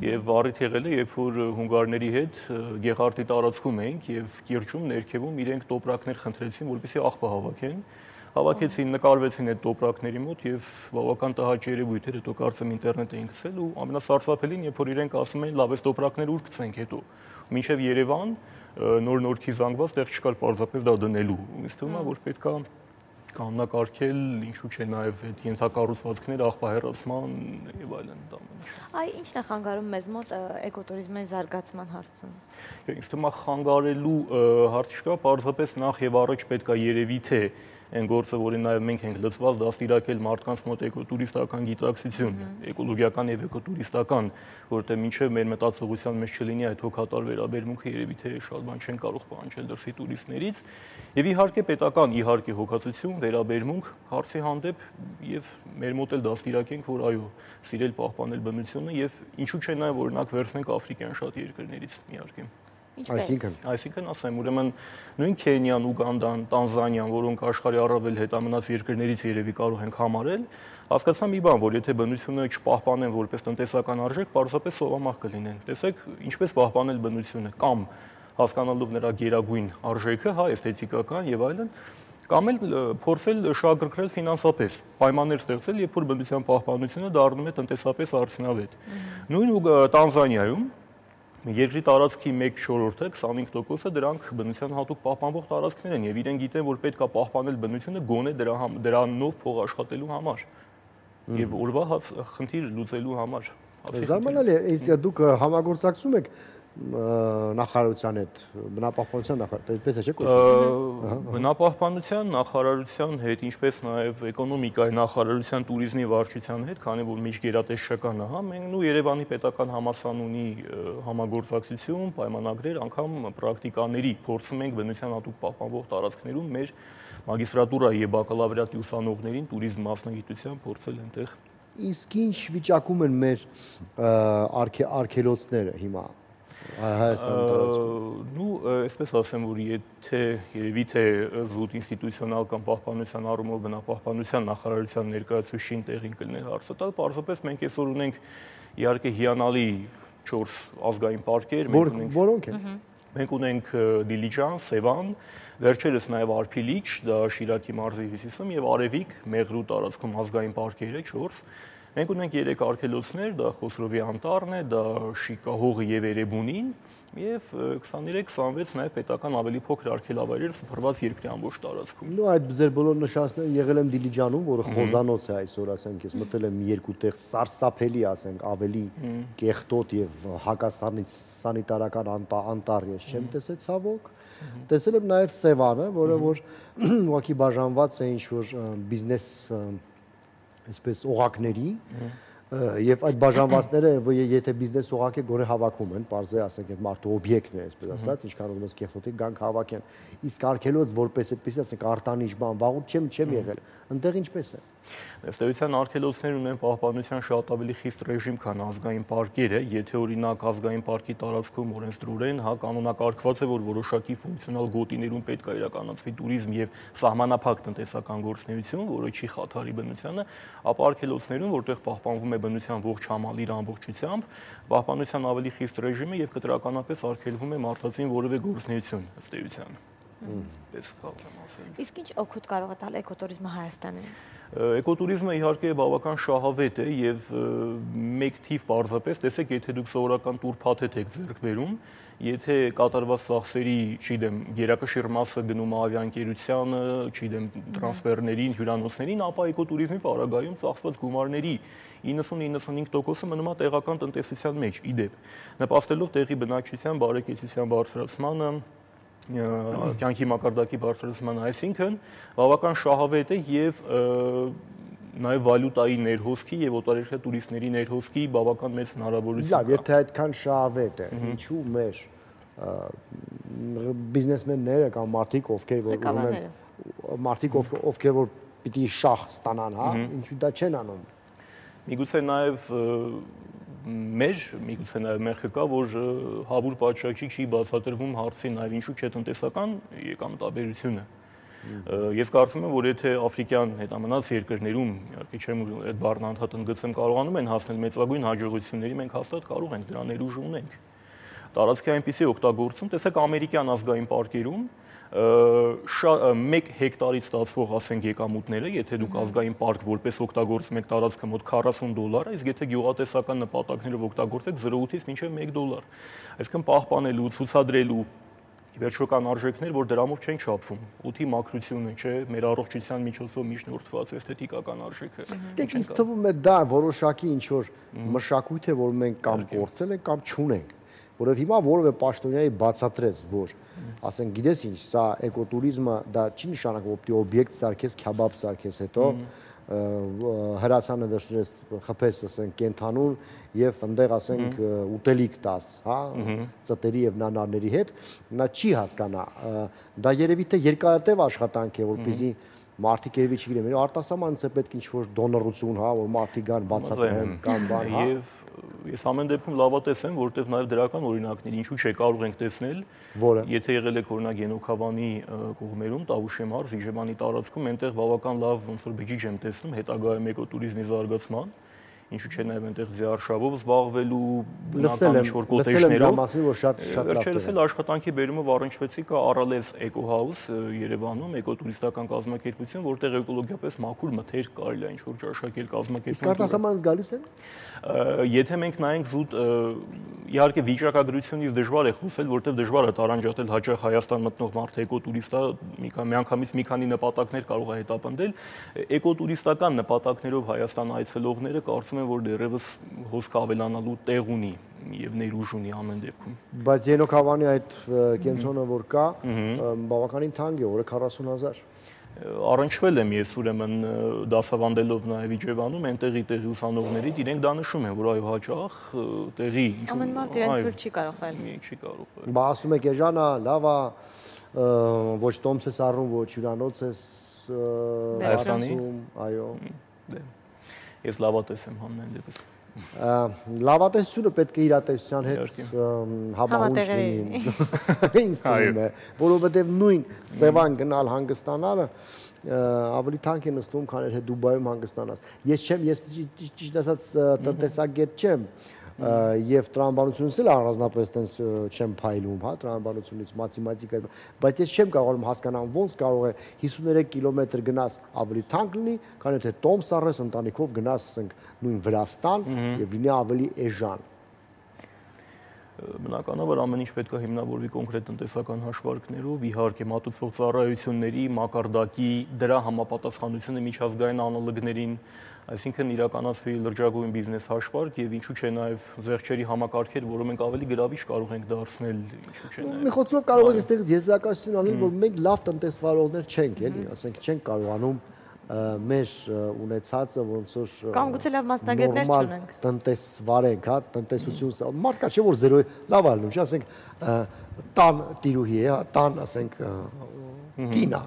եւ առիթ եղել է, երբ որ հունգարների հետ Գեղարդի տարածքում էինք եւ Կիրճում ներքևում իրենք տոպրակներ խնդրեցին, որպեսզի աղբը հավաքեն։ Հավաքեցին, նկարվեցին այդ տոպրակների մոտ եւ բավական տհաճ երևույթ էր, հետո կարծեմ ինտերնետ էին գցել ու ամենասարսափելին, երբ որ իրենք ասում էին լավ, այս տոպրակները ուր գցենք հետո։ Մինչեւ Երևան նոր նորքի զանգված տեղ չկար պարզապես դա դնելու։ Ինձ թվում է, որ պետք է կանոնակարգել, ինչու՞ չէ նաեւ այդ ենթակառուցվածքներ, աղբահեռացման եւ այլն դա։ Այ ինչն է խանգարում մեզ մոտ էկոտուրիզմի զարգացման հարցում։ Ինձ թվում է խանգարելու հարց չկա, պարզապես նախ եւ առաջ պետք է երևի թե այն գործը, որին նաև մենք ենք լծված, դաստիարակել մարդկանց մոտ էկոտուրիստական գիտակցություն, էկոլոգիական եւ էկոտուրիստական, որտեղ մինչեւ մեր մտածողության մեջ չլինի այդ հոգատար վերաբերմունքը, երևի թե շատ բան չեն կարող պահանջել դրսի տուրիստներից, եւ իհարկե պետական, իհարկե հոգացություն, վերաբերմունք հարցի հանդեպ եւ մեր մոտ էլ դաստիարակենք, որ այո, սիրել պահպանել բնությունը եւ ինչու՞ չէ նաև օրինակ վերցնենք աֆրիկյան շատ երկրներից իհարկե։ Այսինքն, այսինքն ասեմ, ուրեմն նույն Քենիան, Ուգանդան, Տանզանիան, որոնք աշխարհի առավել հետամնաց երկրներից երևի կարող ենք համարել, հասկացա մի բան, որ եթե բնությունը չպահպանեն որպես տնտեսական արժեք, պարզապես սովամահ կլինեն։ Տեսեք, ինչպես պահպանել բնությունը, կամ հասկանալով նրա գերագույն արժեքը, հա, էսթետիկական եւ այլն, կամ էլ փորձել շահագրգռել ֆինանսապես, պայմաններ ստեղծել, երբ որ բնության պահպանությունը դառնում է տնտեսապես արդյունավետ։ Նույն Տանզանիայում երկրի տարածքի մեկ չորրորդը, քսանհինգ տոկոսը դրանք բնության հատուկ պահպանվող տարածքներ են եւ իրենք գիտեն, որ պետք է պահպանել բնությունը գոնե դրա դրանով փող աշխատելու համար եւ օրվա խնդիր լուծելու համար։ Զարմանալի է, իսկ դուք համագործակցում եք նախարարության հետ, բնապահպանության նախարարության, այդպես է չէ՞ կոչվում։ Բնապահպանության նախարարության հետ, ինչպես նաև էկոնոմիկայի նախարարության տուրիզմի վարչության հետ, քանի որ միջգերատեսչական է, հա, մենք նույն Երևանի պետական համալսարան ունի համագործակցություն, պայմանագրեր, անգամ պրակտիկաների փորձում ենք բնության հատուկ պահպանվող տարածքներում մեր մագիստրատուրայի եւ բակալավրիատի ուսանողներին տուրիզմ մասնագիտության փորձել այնտեղ։ Իսկ ինչ վիճակում են մեր արգելոցները հիմա Հայաստանի տարածքում։ Նու, այսպես ասեմ, որ եթե երևի թե զուտ ինստիտուցիոնալ կամ պահպանության առումով բնապահպանության նախարարության ներկայացուցիչին տեղին կլներ հարցը տալ, պարզապես մենք այսօր ունենք իհարկե հիանալի չորս ազգային պարկեր, որոնք են։ Մենք ունենք Դիլիջան, Սևան, վերջերս նաև Արփիլիչ, դա Շիրակի մարզի հյուսիսում եւ Արևիկ, Մեղրու տարածքում ազգային պարկերը չորս։ Մենք ունենք երեք արգելոցներ, դա Խոսրովի անտառն է, դա Շիկահողը եւ Էրեբունին եւ քսաներեք քսանվեց նաեւ պետական ավելի փոքր արգելավայրեր սփռված երկրի ամբողջ տարածքում։ Նու այդ ձեր բոլոր նշանները եղել եմ Դիլիջանում, որը խոզանոց է այսօր, ասենք, ես մտել եմ երկու տեղ սարսափելի, ասենք, ավելի կեղտոտ եւ հակասանիտարական անտառ ես չեմ տեսել ցավոք։ Տեսել եմ նաեւ Սևանը, որը որ ուղղակի բաժանված է ինչ-որ բիզնես այսպես օղակների եւ այդ բաժանվածները եթե բիզնես օղակ է գոնե հավաքում են, բարձր ասենք այդ մարդու օբյեկտն է, այսպես ասած, ինչքան ուզում ես կեղտոտի գանք հավաքեն։ Իսկ արգելոց որպես այդպես ասենք արտանիշ բան, վաղուց չեմ չեմ եղել։ Այնտեղ ինչպես է։ Ըստեյության արգելոցներ ունեն պահպանության շատ ավելի խիստ ռեժիմ, քան ազգային պարկերը, եթե օրինակ ազգային պարկի տարածքում օրենսդրորեն, հա, կանոնակարգված է, որ որոշակի ֆունկցիոնալ գոտիներում պետք է իրականացվի տուրիզմ եւ սահմանափակ տնտեսական գործունեություն, որը չի խաթարի բնությանը, ապա արգելոցներում, որտեղ պահպանվում է բնության ողջ համալիր իր ամբողջությամբ, պահպանության ավելի խիստ ռեժիմը եւ կտրականապես արգելվում է մարդածին որևէ գործունեություն ըստեյության։ Պես կարող եմ ասել։ Իսկ ինչ օգուտ կարող է տալ էկոտուրիզմը Հայաստանին։ Էկոտուրիզմը իհարկե բավական շահավետ է եւ մեկ թիվ պարզապես, տեսեք, եթե դուք սովորական տուր փաթեթ եք ձեռք բերում, եթե կատարված ծախսերի, չգիտեմ, գերակշիռ մասը գնում է ավիաընկերությանը, չգիտեմ, տրանսֆերներին, հյուրանոցներին, ապա էկոտուրիզմի պարագայում ծախսված գումարների իննսուն-իննսունհինգ տոկոսը մնում է տեղական տնտեսության մեջ, ի դեպ, նպաստելով տեղի բնակչության բարեկեցության բարձրացմանը, կյանքի մակարդակի բարձրացման, այսինքն բավական շահավետ է եւ նաև վալյուտայի ներհոսքի եւ օտարերկրյա տուրիստների ներհոսքի բավական մեծ հնարավորություն կա։ Լավ, եթե այդքան շահավետ է, ինչու մեր բիզնեսմենները կամ մարդիկ, ովքեր որ ուզում են մարդիկ ովքեր որ պիտի շահ ստանան, հա, ինչու դա չեն անում։ Միգուցե նաև մեր, միգուցե նաև մեղքը կա, որ հավուր պատշաճի չի բացատրվում հարցի նաև ինչու չէ տնտեսական եկամտաբերությունը։ Ես կարծում եմ, որ եթե աֆրիկյան հետամնաց երկրներում, իհարկե չեմ այդ բառն անդադար ընդգծեմ, կարողանում են հասնել մեծագույն հաջողությունների, մենք հաստատ կարող ենք դրա ներուժ ունենք։ Տարածքի այնպիսի օգտագործում, տեսեք ամերիկյան ազգային պարկերում մեկ հեկտարից ստացվող ասենք եկամուտները, եթե դուք ազգային պարկ որպես օգտագործում եք տարածքը մոտ քառասուն դոլար, իսկ եթե գյուղատնտեսական նպատակներով օգտագործեք զրո ութից մինչև մեկ դոլար։ Այսինքն պահպանելու, ցուցադրելու վերջական արժեքներ, որ դրամով չեն չափվում։ Օդի մաքրությունը, չէ, մեր առողջության միջոցով միջնորդված էսթետիկական արժեքը։ Դեք ինձ թվում է դա որոշակի ինչ որ մշակույթ է, որ մենք կամ կորցել ենք կամ չունենք, որովհետև հիմա որևէ պաշտոնյայի բացատրեց, որ ասենք գիտես ինչ, սա էկոտուրիզմը դա չի նշանակում, որ պիտի օբյեկտ սարքես, քյաբաբ սարքես, հետո հրացանը վերցրես, խփես, ասենք, կենթանուն եւ այնտեղ ասենք ուտելիք տաս, հա, ծտերի եւ նանարների հետ, նա չի հասկանա։ Դա երևի թե երկարատև աշխատանք է, որպեսզի մարդիկ երևի չգիտեն, արտասահմանից է պետք ինչ-որ դոնորություն, հա, որ մարդիկ գան բացատրեն կամ բան, հա։ Ես ամեն դեպքում լավատես եմ, որովհետև նաև դրական օրինակներ ինչու՞ չէ կարող ենք տեսնել, որը եթե եղել եք օրինակ Ենոքավանի կողմերում, Տավուշի մարզ, Իժևանի տարածքում, այնտեղ բավական լավ ոնց որ բջիջ եմ տեսնում հետագայում էկոտուրիզմի զարգացման, ինչու՞ չէ նաև այնտեղ ձիարշավով զբաղվելու բնական ինչ-որ կոտեջներով, վերջերս էլ աշխատանքի բերումով առնչվեցի կա Արալեզ էկոհաուս Երևանում, էկոտուրիստական կազմակերպություն, որտեղ էկոլոգիապես մաքուր մթերք կարելի է ինչ-որ ճաշակել կազմակերպել։ Իսկ արտասահմանից գալիս են։ Եթե մենք նայենք զուտ, իհարկե վիճակագրությունից դժվար է խոսել, որտեղ դժվար է տարանջատել հաճախ Հայաստան մտնող մարդը էկոտուրիստա, միանգամից մի քանի նպատակներ կարող է հետապնդել, էկոտուրիստական նպատակներով Հայաստան այցելողները կարծում են, որ դեռևս հոսքը ավելանալու տեղ ունի եւ ներուժ ունի ամեն դեպքում։ Բայց Ենոքավանի այդ կենտրոնը որ կա, բավականին թանկ է, օրը քառասուն հազար։ Առնչվել եմ ես ուրեմն դասավանդելով նաև Իջևանում, այնտեղի տեղի ուսանողներից իրենք դա նշում են, որ այո հաճախ տեղի ամեն մարդ իրեն թույլ չի կարող այլ։ Չի կարող։ Բա ասում եք Էժանա, լավ է, ոչ տոմս ես առնում, ոչ հյուրանոց ես Հայաստանում, այո։ Ես լավատես եմ համեն դեպս։ Լավատեսությունը պետք է իրատեսության հետ համահունչ լինի, ինձ թվում է, որովհետև նույն Սևան գնալ հանգստանալը ավելի թանկ է նստում, քան եթե Դուբայում հանգստանաս։ Ես չեմ, ես ճիշտ ասած տնտեսագետ չեմ, եւ տրամաբանությունից էլ առանձնապես տենց չեմ փայլում, հա, տրամաբանությունից, մաթեմատիկա, բայց ես չեմ կարողանում հասկանալ ոնց կարող է հիսուներեք կիլոմետր գնաս ավելի թանկ լինի, քան եթե տոմս առես ընտանիքով գնաս, ասենք, նույն Վրաստան եւ լինի ավելի էժան։ Բնականաբար ամեն ինչ պետք է հիմնավորվի կոնկրետ տնտեսական հաշվարկներով, իհարկե մատուցվող ծառայությունների մակարդակի դրա համապատասխանությունը միջազգային անալոգներին, այսինքն իրականացվի լրջագույն բիզնես հաշվարկ եւ ինչու՞ չէ նաեւ զեղչերի համակարգեր, որը մենք ավելի գրավիչ կարող ենք դարձնել, ինչու՞ չէ նաեւ։ Մի խոցով կարող ենք այստեղից եզրակացություն անել, որ մենք լավ տնտեսվարողներ չենք, էլի, ասենք չենք կարողանում մեր ունեցածը ոնց որ կամ գուցե լավ մասնագետներ չունենք տնտեսվարենք, հա, տնտեսություն մարդկա չէ որ զերո լավ ալնում, չէ, ասենք տան տիրուհի է, տան, ասենք կինա,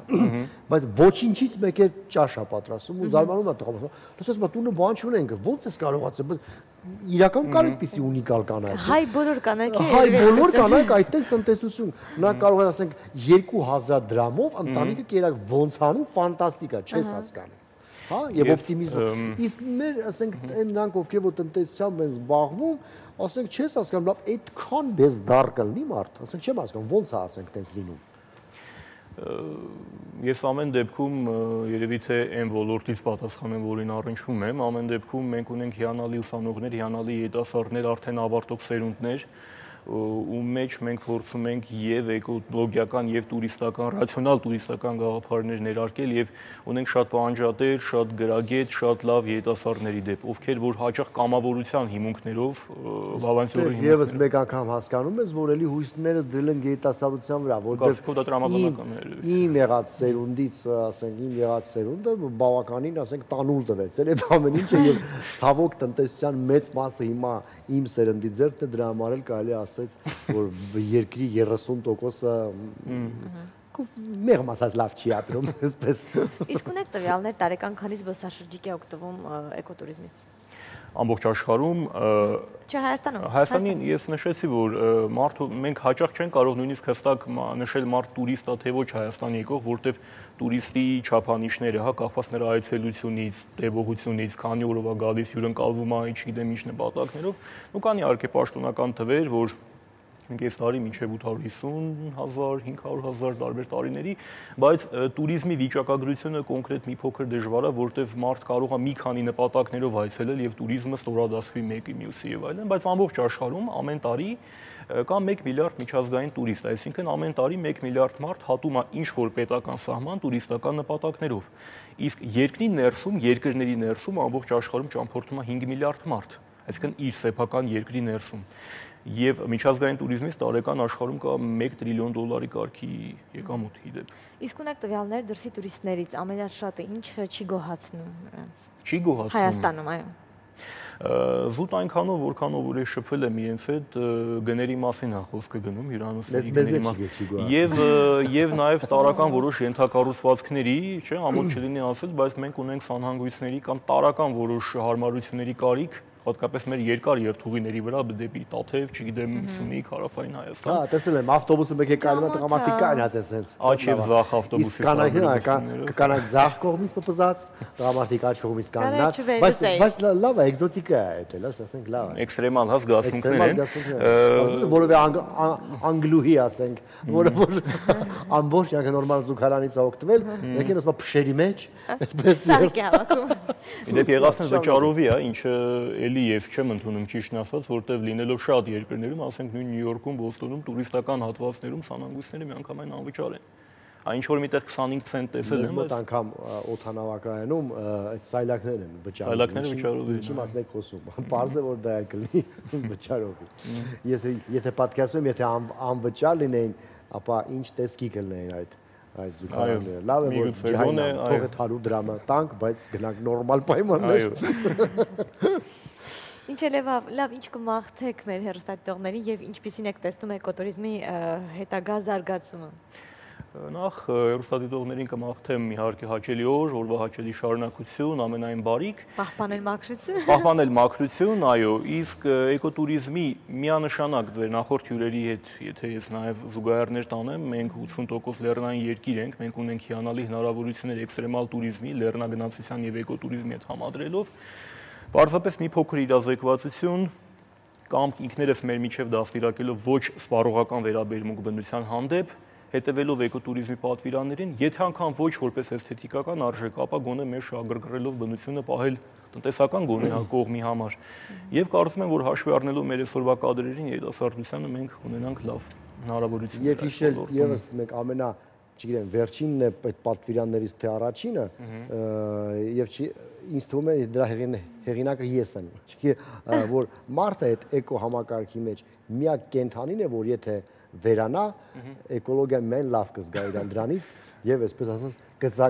բայց ոչինչից մեկ է ճաշ է պատրաստում ու զարմանում է տղամարդը, լսես մա տունը բան չունենք, ո՞նց ես կարողացել, իրական կար այդպիսի ունիկալ կանայք։ Հայ բոլոր կանայք է։ Հայ բոլոր կանայք այդտես տնտեսություն, նա կարող է ասենք երկու հազար դրամով ընտանիքը կերակ ոնց անում, ֆանտաստիկ է, չես հասկանում։ Հա, եւ օպտիմիզմ։ Իսկ մեր, ասենք, այն նրանք ովքեր որ տնտեսությամբ են զբաղվում, ասենք չես հասկանում, լավ, այդքան բեզդար կլինի մարդ, ասենք չեմ հասկանում, ո՞նց է ասենք տենց լինում։ Ես ամեն դեպքում երևի թե այն ոլորտից պատասխանեմ, որին առնչվում եմ, ամեն դեպքում մենք ունենք հիանալի ուսանողներ, հիանալի երիտասարդներ, արդեն ավարտող սերունդներ, ու մեջ մենք փորձում ենք եւ էկոլոգիական եւ տուրիստական, ռացիոնալ տուրիստական գաղափարներ ներարկել եւ ունենք շատ պահանջատեր, շատ գրագետ, շատ լավ երիտասարդների դեպ, ովքեր որ հաճախ կամավորության հիմունքներով բավականորեն հիմունքներով եւս մեկ անգամ հասկանում ես, որ էլի հույսները դրել են երիտասարդության վրա, որտեղ իմ եղած սերունդից, ասենք, իմ եղած սերունդը բավականին, ասենք, տանուլ տվեց այդ ամեն ինչը եւ ցավոք տնտեսության մեծ մասը հիմա իմ սերնդի ձեռքն է, դրա համար էլ կարելի ասեց, որ երկրի երեսուն տոկոսը մեղմ ասած լավ չի ապրում, այսպես։ Իսկ ունեք տվյալներ տարեկան քանի զբոսաշրջիկ է օգտվում էկոտուրիզմից։ Ամբողջ աշխարհում Չէ, Հայաստանում։ Հայաստանին ես նշեցի, որ մարդու մենք հաճախ չենք կարող նույնիսկ հստակ նշել մարդ տուրիստ է թե ոչ Հայաստան եկող, որտեվ տուրիստի չափանիշները, հա, կախված նրա այցելությունից, տևողությունից, քանի օրով է գալիս, հյուրընկալվում է, չգիտեմ ինչ նպատակներով, ու կան իհարկե պաշտոնական թվեր, որ կես տարի մինչև ութ հարյուր հիսուն հազար, հինգ հարյուր հազար տարբեր տարիների, բայց տուրիզմի վիճակագրությունը կոնկրետ մի փոքր դժվար է, որտեղ մարդ կարող է մի քանի նպատակներով այցելել եւ տուրիզմը ստորադասվի մեկի մյուսի եւ այլն, բայց ամբողջ աշխարհում ամեն տարի կա մեկ միլիարդ միջազգային տուրիստ, այսինքն ամեն տարի մեկ միլիարդ մարդ հատում է ինչ որ պետական սահման տուրիստական նպատակներով։ Իսկ երկրի ներսում, երկրների ներսում ամբողջ աշխարհում ճամփորդում է հինգ միլիարդ մարդ, այսինքն իր սեփական երկրի ներսում։ Եվ միջազգային տուրիզմից տարեկան աշխարհում կա մեկ տրիլիոն դոլարի կարգի եկամուտ իդեպ։ Իսկ ունեք տվյալներ դրսի տուրիստներից ամենաշատը ինչը չի գոհացնում նրանց։ Չի գոհացնում։ Հայաստանում, այո։ Զուտ այնքանով, որքանով որ ես շփվել եմ իրենց հետ, գների մասին է խոսքը գնում, հյուրանոցների գների մասին։ Եվ եւ նաեւ տարական որոշ ենթակառուցվածքների, չէ, ամոթ չլինի ասել, բայց մենք ունենք սանհանգույցների կամ տարական որոշ հարմարությունների կարիք, հատկապես մեր երկար երթուղիների վրա դեպի Տաթև, չգիտեմ, Սյունիք, Հարավային Հայաստան։ Հա, տեսել եմ, ավտոբուսը մեկ է կայանում է տղամարդիկ կանած է սենց։ Աջ եւ ձախ ավտոբուսի կանանք կանանք ձախ կողմից պպզած, տղամարդիկ աջ կողմից կանած, բայց բայց լավ է, էկզոտիկ է դա, լավ, ասենք լավ է։ Էքստրեմալ հա զգացմունքներ են։ Որովե անգլուհի ասենք, որը որ ամբողջ յակը նորմալ զուգարանից է օգտվել, եկեն ասում փշերի մեջ, այդպես։ Սարքի հավաքում։ Իդեպ եղածն վճարովի է, ինչը էլի ես չեմ ընդունում ճիշտն ասած, որտեվ լինելով շատ երկրներում, ասենք նույն Նյու Յորքում, Բոստոնում, տուրիստական հատվածներում սանհանգույցները միանգամայն անվճար են։ Այն ինչ որ միտեղ քսանհինգ ցենտ տեսել եմ, բայց անգամ օդանավակայանում այդ սայլակներն են վճարում։ Սայլակները վճարով են։ Ինչի մասն եք խոսում։ Պարզ է որ դա է կլինի վճարով։ Ես եթե պատկերացնում, եթե անվճար լինեին, ապա ինչ տեսքի կլինեին այդ այդ զուգարանները։ Լավ է որ ջահանա թողը հարյուր դրամը տանք, բայց գնանք նորմալ պայմաններ։ Ինչ է լավ, ինչ կմաղթեք մեր հեռուստադիտողներին եւ ինչպիսին եք տեսնում էկոտուրիզմի հետագա զարգացումը։ Նախ հեռուստադիտողներին կմաղթեմ իհարկե հաճելի օր, օրվա հաճելի շարունակություն, ամենայն բարիք։ Պահպանել մաքրություն։ Պահպանել մաքրություն, այո, իսկ էկոտուրիզմի միանշանակ ձեր նախորդ հյուրերի հետ, եթե ես նաև զուգահեռներ տանեմ, մենք ութսուն տոկոս լեռնային երկիր ենք, մենք ունենք հիանալի հնարավորություններ էքստրեմալ տուրիզմի, լեռնագնացության եւ էկոտուրիզմի հետ համադրելով, պարզապես մի փոքր իրազեկվածություն կամ ինքներս մեր միջև դաստիարակելով ոչ սպառողական վերաբերմունք բնության հանդեպ, հետևելով էկոտուրիզմի պատվիրաններին, եթե անգամ ոչ որպես էսթետիկական արժեք, ապա գոնե մեր շահագրգռելով բնությունը պահել տնտեսական գոնե կողմի համար։ Եվ կարծում եմ, որ հաշվի առնելով մեր այսօրվա կադրերին երիտասարդությանը մենք ունենանք լավ հնարավորություն։ Եվ հիշել եւս մեկ ամենա, չգիտեմ, վերջինն է այդ պատվիրաններից թե առաջինը, եւ ինձ թվում է դրա հեղինակը ես եմ, որ մարդը այդ էկո համակարգի մեջ միակ կենդանին է, որ եթե վերանա, էկոլոգիան մեն լավ կզգա իրան դրանից եւ այսպես ասած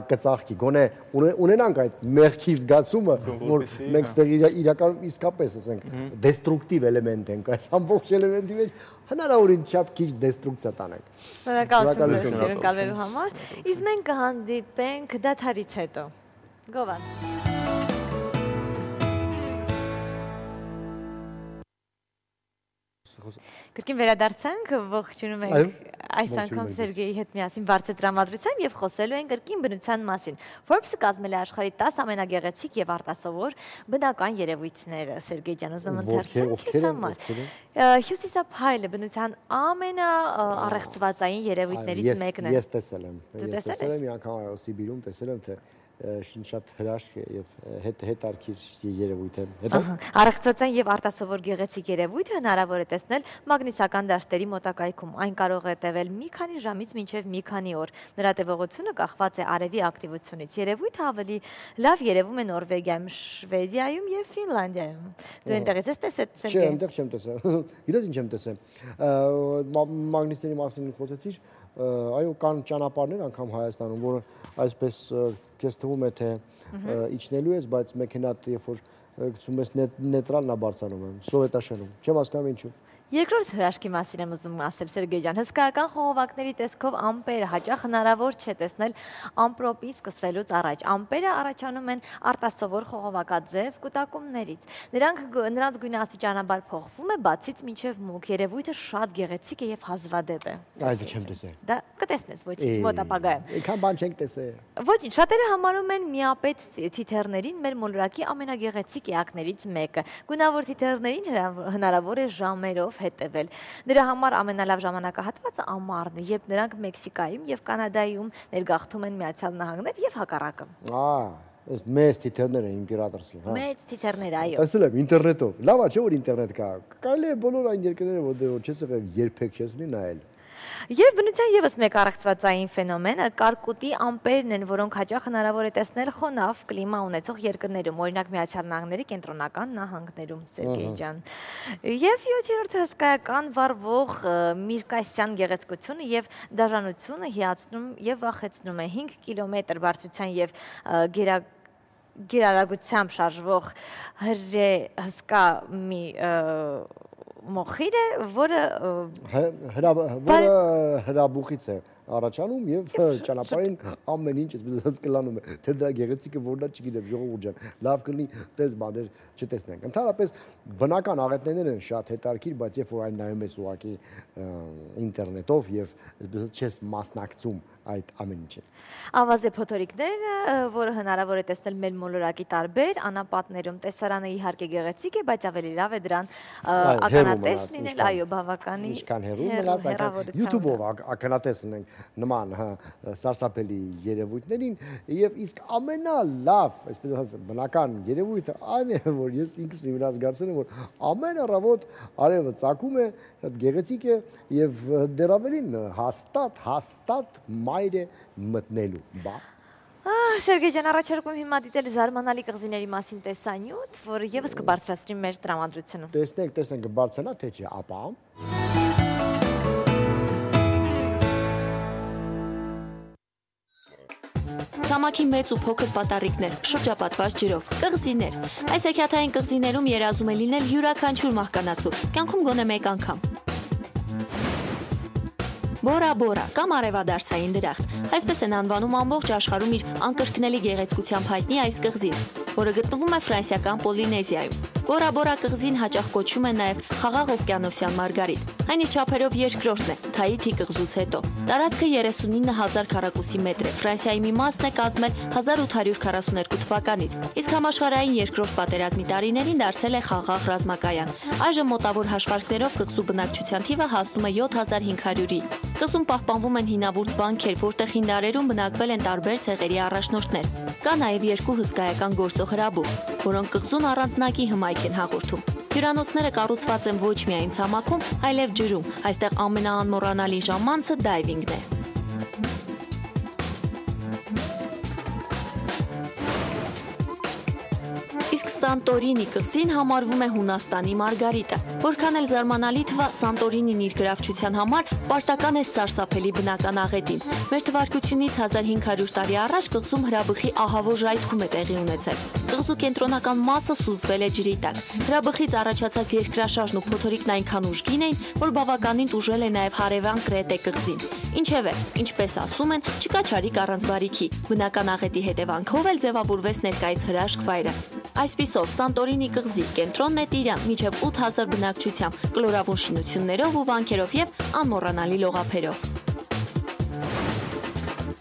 կծաղկի։ Գոնե ունենանք այդ մեղքի զգացումը, որ մենք ստեղ իրականում իսկապես ասենք դեստրուկտիվ էլեմենտ ենք, այս ամբողջ էլեմենտի մեջ հնարավորին չափ քիչ դեստրուկցիա տանենք։ Շնորհակալություն հյուրընկալվելու համար։ Իսկ մենք կհանդիպենք դադարից հետո։ Գովան։ Կրկին վերադարձանք, ողջունում ենք այս անգամ Սերգեյի հետ միասին բարձր տրամադրությամբ եւ խոսելու ենք կրկին բնության մասին։ Forbes-ը կազմել է աշխարհի տասը ամենագեղեցիկ եւ արտասովոր բնական երևույթները։ Սերգեյ ջան, ուզում եմ ընթերցել քեզ համար։ Հյուսիսափայլը բնության ամենաառեղծվածային երևույթներից մեկն է։ Ես տեսել եմ։ Ես տեսել եմ մի անգամ այո Սիբիրում տեսել եմ թե շատ հրաշք եւ հետարքիր երևույթ է։ Հետո առեղծածային եւ արտասովոր գեղեցիկ երևույթ հնարավոր է տեսնել մագնիսական դաշտերի մոտակայքում։ Այն կարող է տևել մի քանի ժամից մինչեւ մի քանի օր։ Նրա տևողությունը կախված է արևի ակտիվությունից։ Երևույթը ավելի լավ երևում է Նորվեգիայում, Շվեդիայում եւ Ֆինլանդիայում։ Դու այնտեղից ես տեսել, Սերգեյ։ Չէ, այնտեղ չեմ տեսել։ Իրոք ինչ եմ տեսել։ Մագնիսների մասին խոսեցիր, այո, կան ճանապարհներ անգամ Հայաստանում, որը այսպես քեզ թվում է թե իջնելու ես, բայց մեքենատ երբ որ գցում ես նեյտրալն է բարձրանում եմ, սովետաշենում։ Չեմ հասկանում ինչու։ Երկրորդ հրաշքի մասին եմ ուզում ասել, Սերգեյ ջան, հսկայական խողովակների տեսքով ամպերը հաճախ հնարավոր չէ տեսնել ամպրոպի սկսվելուց առաջ։ Ամպերը առաջանում են արտասովոր խողովակաձև կուտակումներից։ Նրանք նրանց գույնը աստիճանաբար փոխվում է բացից մինչև մուգ։ Երևույթը շատ գեղեցիկ է եւ հազվադեպ է։ Այդ չեմ տեսել։ Դա կտեսնես ոչ մոտ ապագայում։ Այնքան բան չենք տեսել։ Ոչինչ, շատերը համարում են միապետ թիթեռներին մեր մոլորակի ամենագեղեցիկ էակներից մեկը։ Գունավոր թիթեռներին հնարավոր է ժամերով հետևել։ Նրա համար ամենալավ ժամանակահատվածը ամառն է, երբ նրանք Մեքսիկայում եւ Կանադայում ներգաղթում են Միացյալ Նահանգներ եւ հակառակը։ Ահա, այս մեծ թիթեռները իմպերատորսկի, հա։ Մեծ թիթեռներ, այո։ Տեսել եմ ինտերնետով։ Լավ է, չէ՞ որ ինտերնետ կա։ Կարելի է բոլոր այն երկրները, որտեղ չես եղել, երբեք չես ունի նայել։ Եվ բնության եւս մեկ առեղծվածային ֆենոմենը կարկուտի ամպերն են, որոնք հաճախ հնարավոր է տեսնել խոնավ կլիմա ունեցող երկրներում, օրինակ Միացյալ Նահանգների կենտրոնական նահանգներում, Սերգեյ ջան։ Եվ յոթերորդ հսկայական վառվող Միրկասյան գեղեցկությունը եւ դաժանությունը հիացնում եւ վախեցնում է հինգ կիլոմետր բարձրության եւ գերա գերարագությամբ շարժվող հրե հսկա մի մոխիր է, որը հրաբուխից է առաջանում եւ ճանապարհին ամեն ինչ այսպես կլանում է, թե դա գեղեցիկը որնա չգիտեմ, ժողովուրդ ջան, լավ կլինի տես բաներ չտեսնենք։ Ընդհանրապես բնական աղետներն են շատ հետաքրքիր, բայց երբ որ այն նայում ես ուղակի ինտերնետով եւ այսպես չես մասնակցում այդ ամեն ինչին։ Ավազե փոթորիկները, որը հնարավոր է տեսնել մեր մոլորակի տարբեր անապատներում, տեսարանը իհարկե գեղեցիկ է, բայց ավելի լավ է դրան ականատես լինել, այո, բավականին ինչքան հեռու մնաց, այնքան YouTube-ով ականատես ունենք նման սարսափելի երևույթներին եւ իսկ ամենալավ, այսպես ասած, բնական երևույթը այն է, որ ես ինքս իմ զգացել եմ, որ ամեն առավոտ արևը ծագում է, գեղեցիկ է եւ դեռ ավելին հաստատ, հաստատ մայր է մտնելու, բա։ Սերգեյ ջան, առաջարկում հիմա դիտել զարմանալի կղզիների մասին տեսանյութ, որը եւս կբարձրացնի մեր տրամադրությունը։ Տեսնենք, տեսնենք կբարձրանա, թե չէ, ապա։ Ցամաքի մեծ ու փոքր պատառիկներ, շրջապատված ջրով, կղզիներ։ Այս հեքիաթային կղզիներում երազում է լինել յուրաքանչյուր մահկանացու, կյանքում գոնե մեկ անգամ։ Բորա Բորա կամ արևադարձային դրախտ, այսպես են անվանում ամբողջ աշխարհում իր անկրկնելի գեղեցկությամբ հայտնի այս կղզին, որը գտնվում է ֆրանսիական Պոլինեզիայում։ Բորա Բորա կղզին հաճախ կոչում են նաև Խաղաղ օվկիանոսյան մարգարիտ։ Այն իր չափերով երկրորդն է Թայիթի կղզուց հետո։ Տարածքը երեսունինը հազար քառակուսի մետր է, Ֆրանսիայի մի մասն է կազմել հազար ութ հարյուր քառասուներկու թվականից, իսկ համաշխարհային երկրորդ պատերազմի տարիներին դարձել է խաղաղ ռազմակայան։ Այժմ մոտավոր հաշվարկներով կղզու բնակչության թիվը հասնում է յոթ հազար հինգ հարյուրի։ Կղզում պահպանվում են հինավուրց վանքեր, որտեղ հին դարերում բնակվել են տարբեր ցեղերի առաջնորդներ։ Կա նաև երկու հսկայական գործող հրաբուխ, որոնք կղզուն առանձնակի հմայք են հաղորդում։ Հյուրանոցները կառուցված են ոչ միայն ցամաքում, այլև ջրում։ Այստեղ ամենաանմոռանալի ժամանցը դայվինգն է։ Իսկ Սանտորինի կղզին համարվում է Հունաստանի Մարգարիտը։ Որքան էլ զարմանալի թվա, Սանտորինին իր գրավչության համար պարտական է սարսափելի բնական աղետին։ Մեր թվարկությունից հազար հինգ հարյուր տարի առաջ կղզում հրաբխի ահավոր ժայթքում է տեղի ունեցել։ Կղզու կենտրոնական մասը սուզվել է ջրի տակ։ Հրաբխից առաջացած երկրաշարժն ու փոթորիկն այնքան ուժգին էին, որ բավականին տուժել է նաև հարևան Կրետե կղզին։ Ինչևէ, ինչպես ասում են, չկա չարիք առանց բարիքի։ Բնական աղետի հետևանքով էլ ձևավորվեց ներկայիս հրաշք վայրը։ Այսպիսով, Սանտորինի կղզի կենտրոնն է տիրան միջև ութ հազար բնակչությամբ, կլորավուն շինություններով ու վանքերով եւ անմոռանալի լողափերով։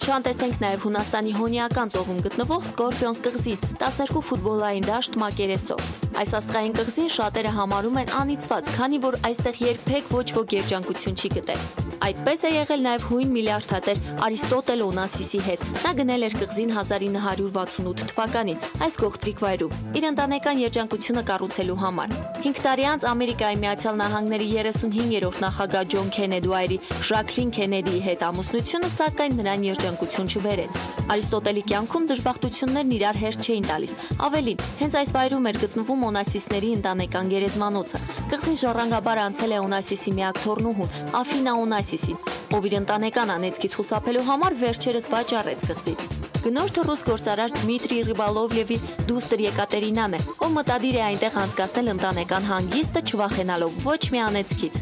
Չանտեսենք նաև Հունաստանի Հոնիական ծովում գտնվող Սկորպիոնս կղզին, տասներկու ֆուտբոլային դաշտ մակերեսով։ Այս աստղային կղզին շատերը համարում են անիծված, քանի որ այստեղ երբեք ոչ ոք երջանկություն չի գտել։ Այդպես է եղել նաև հույն միլիարդատեր Արիստոտել Օնասիսի հետ։ Նա գնել էր կղզին հազար ինը հարյուր վաթսունութ թվականին այս գողտրիկ վայրում իր ընտանեկան երջանկությունը կառուցելու համար։ հինգ տարի անց Ամերիկայի Միացյալ Նահանգների երեսունհինգերորդ նախագահ Ջոն Քենեդուայրի Ժակլին Քենեդիի հետ ամուսնությունը սակայն նրան երջանկություն չբերեց։ Արիստոտելի կյանքում դժբախտություններն իրար հերթ չէին տալիս։ Ավելին, հենց այս վայրում էր գտնվում Օնասիսների ընտանեկան գերեզմանոցը։ Կղզին ժառանգաբար անցել է Օնասիսի միակ թոռնուհուն Աֆինա Օնասիսին, ով իր ընտանեկան անեծքից խուսափելու համար վերջերս վաճառեց կղզին։ Գնորդը ռուս գործարար Դմիտրի Ռիբալովլևի դուստր Եկատերինան է, ով մտադիր է այնտեղ անցկացնել ընտանեկան հանգիստը, չվախենալով ոչ մի անեծքից։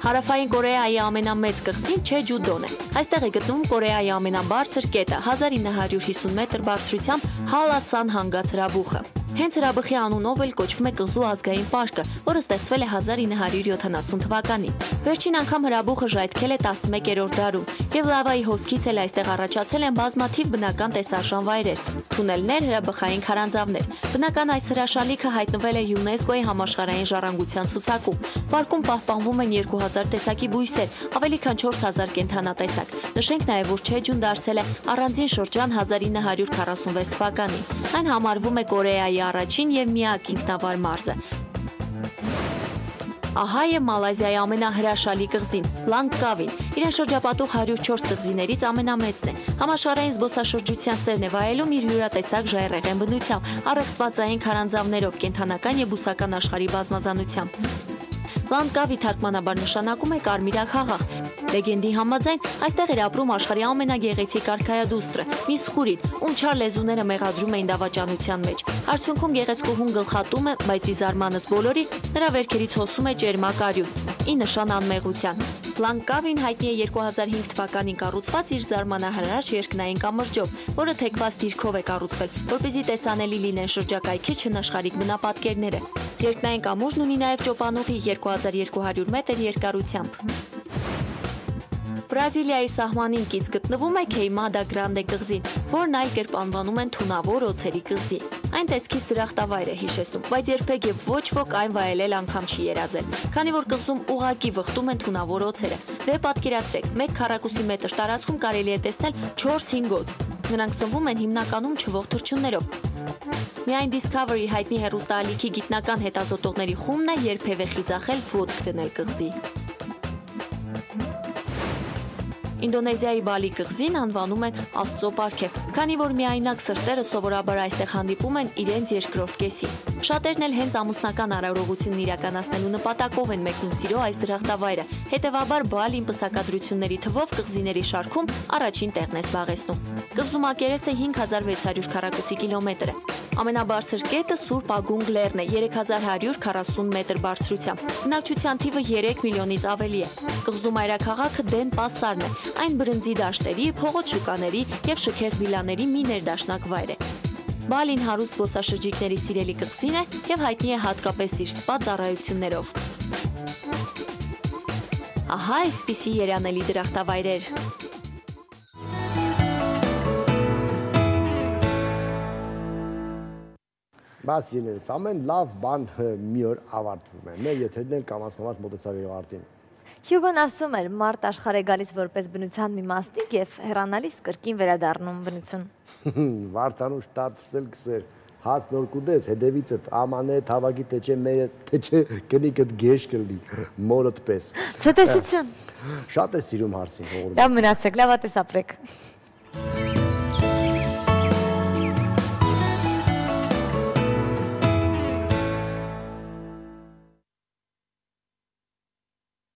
Հարավային Կորեայի ամենամեծ կղզին Չեջուդոն է։ Այստեղ է գտնվում Կորեայի ամենաբարձր կետը՝ հազար ինը հարյուր հիսուն մետր բարձրությամբ Հալասան հանգած հրաբուխը։ Հենց հրաբխի անունով էլ կոչվում է կղզու ազգային պարկը, որը ստեղծվել է հազար ինը հարյուր յոթանասուն թվականին։ Վերջին անգամ հրաբուխը ժայթքել է տասնմեկերորդ դարում, եւ լավայի հոսքից էլ այստեղ առաջացել են բազմաթիվ բնական տեսարժան վայրեր, թունելներ, հրաբխային քարանձավներ։ Բնական այս հրաշալիքը հայտնվել է ՅՈՒՆԵՍԿՕ-ի համաշխարհային ժառանգության ցուցակում։ Պարկում պահպանվում են երկու հազար տեսակի բույսեր, ավելի քան չորս հազար կենդանատեսակ։ Նշենք նաև, որ Չեջուն դարձել է առանձին շրջան հազար ինը հարյուր քառասունվեց թվականին։ Այն համարվում է Կորեայի առաջին եւ միակ ինքնավար մարզը։ Ահա է Մալազիայի ամենահրաշալի կղզին՝ Լանգկավին։ Իրեն շրջապատող հարյուր չորս կղզիներից ամենամեծն է։ Համաշխարհային զբոսաշրջության սերն է վայելում իր յուրատեսակ ժայռեղեն բնությամբ, առեղծվածային քարանձավներով, կենդանական եւ բուսական աշխարհի բազմազանությամբ։ Լանգկավի թարգմանաբար նշանակում է կարմիրակ խաղաղ։ Լեգենդի համաձայն այստեղ էր ապրում աշխարհի ամենագեղեցիկ արքայադուստրը՝ Միսխուրին, ում չար լեզուները մեղադրում էին դավաճանության մեջ։ Արդյունքում գեղեցկուհուն գլխատում է, բայց ի զարմանս բոլորի նրա վերքերից հոսում է ճերմակ արյուն՝ ի նշան անմեղության։ Լանգկավին հայտնի է երկու հազար հինգ թվականին կառուցված իր զարմանահրաշ երկնային կամրջով, որը թեքված դիրքով է կառուցվել, որպեսզի տեսանելի լինեն շրջակայքի չնաշխարհիկ բնապատկերները։ Երկնային կամուրջն ունի նաև ճոպանուղի երկու հազար երկու հարյուր մետր երկարությամբ։ Բրազիլիայի սահմանին կից գտնվում է Քեյմադա Գրանդե կղզին, որն այլ կերպ անվանում են թունավոր օձերի կղզի։ Այն տեսքից դրախտավայր է հիշեցնում, բայց երբեք եւ ոչ ոք այն վայելել անգամ չի երազել, քանի որ կղզում ուղակի վխտում են թունավոր օձերը։ Դե պատկերացրեք, մեկ քառակուսի մետր տարածքում կարելի է տեսնել չորս-հինգ օձ։ Նրանք սնվում են հիմնականում չվող թռչուններով։ Միայն Discovery հայտնի հեռուստաալիքի գիտնական հետազոտողների խումբն է երբևէ խիզախել ոտք դնել կղզի։ Ինդոնեզիայի Բալի կղզին անվանում են Աստծո պարգև, քանի որ միայնակ սրտերը սովորաբար այստեղ հանդիպում են իրենց երկրորդ կեսին։ Շատերն էլ հենց ամուսնական արարողությունն իրականացնելու նպատակով են մեկնում սիրո այս դրախտավայրը, հետևաբար Բալին պսակադրությունների թվով կղզիների շարքում առաջին տեղն է զբաղեցնում։ Կղզու մակերեսը հինգ հազար վեց հարյուր քառակուսի կիլոմետր է։ Ամենաբարձր կետը Սուրբ Ագունգ լեռն է երեք հազար հարյուր քառասուն մետր բարձրությամբ։ Բնակչության թիվը երեք միլիոնից ավելի է։ Կղզու մայրաքաղաքը Դեն Պասարն է։ Այն բրնձի դաշտերի, փողոց շուկաների եւ շքեղ վիլաների մի ներդաշնակ վայր է։ Բալին հարուստ զբոսաշրջիկների սիրելի կղզին է եւ հայտնի է հատկապես իր սպա ծառայություններով։ Ահա այսպիսի երանելի դրախտավայրեր։ Բայց իրենց ամեն լավ բան մի օր ավարտվում է։ Մեր եթերն էլ կամաց-կամաց մոտեցավ իր արդին։ Հյուգոն ասում էր, մարդ աշխարհ է գալիս որպես բնության մի մասնիկ եւ հեռանալիս կրկին վերադառնում բնություն։ Վարդանուշ տատսել գսեր, հաց նոր կուդես, հետևիցդ ամաներ, թավակի տեչե մերը, տեչե կնիկդ գեշ կլի, մորդ պես։ Ցտեսություն։ Շատ է սիրում հարցին հողորում։ Լավ մնացեք, լավատես ապրեք։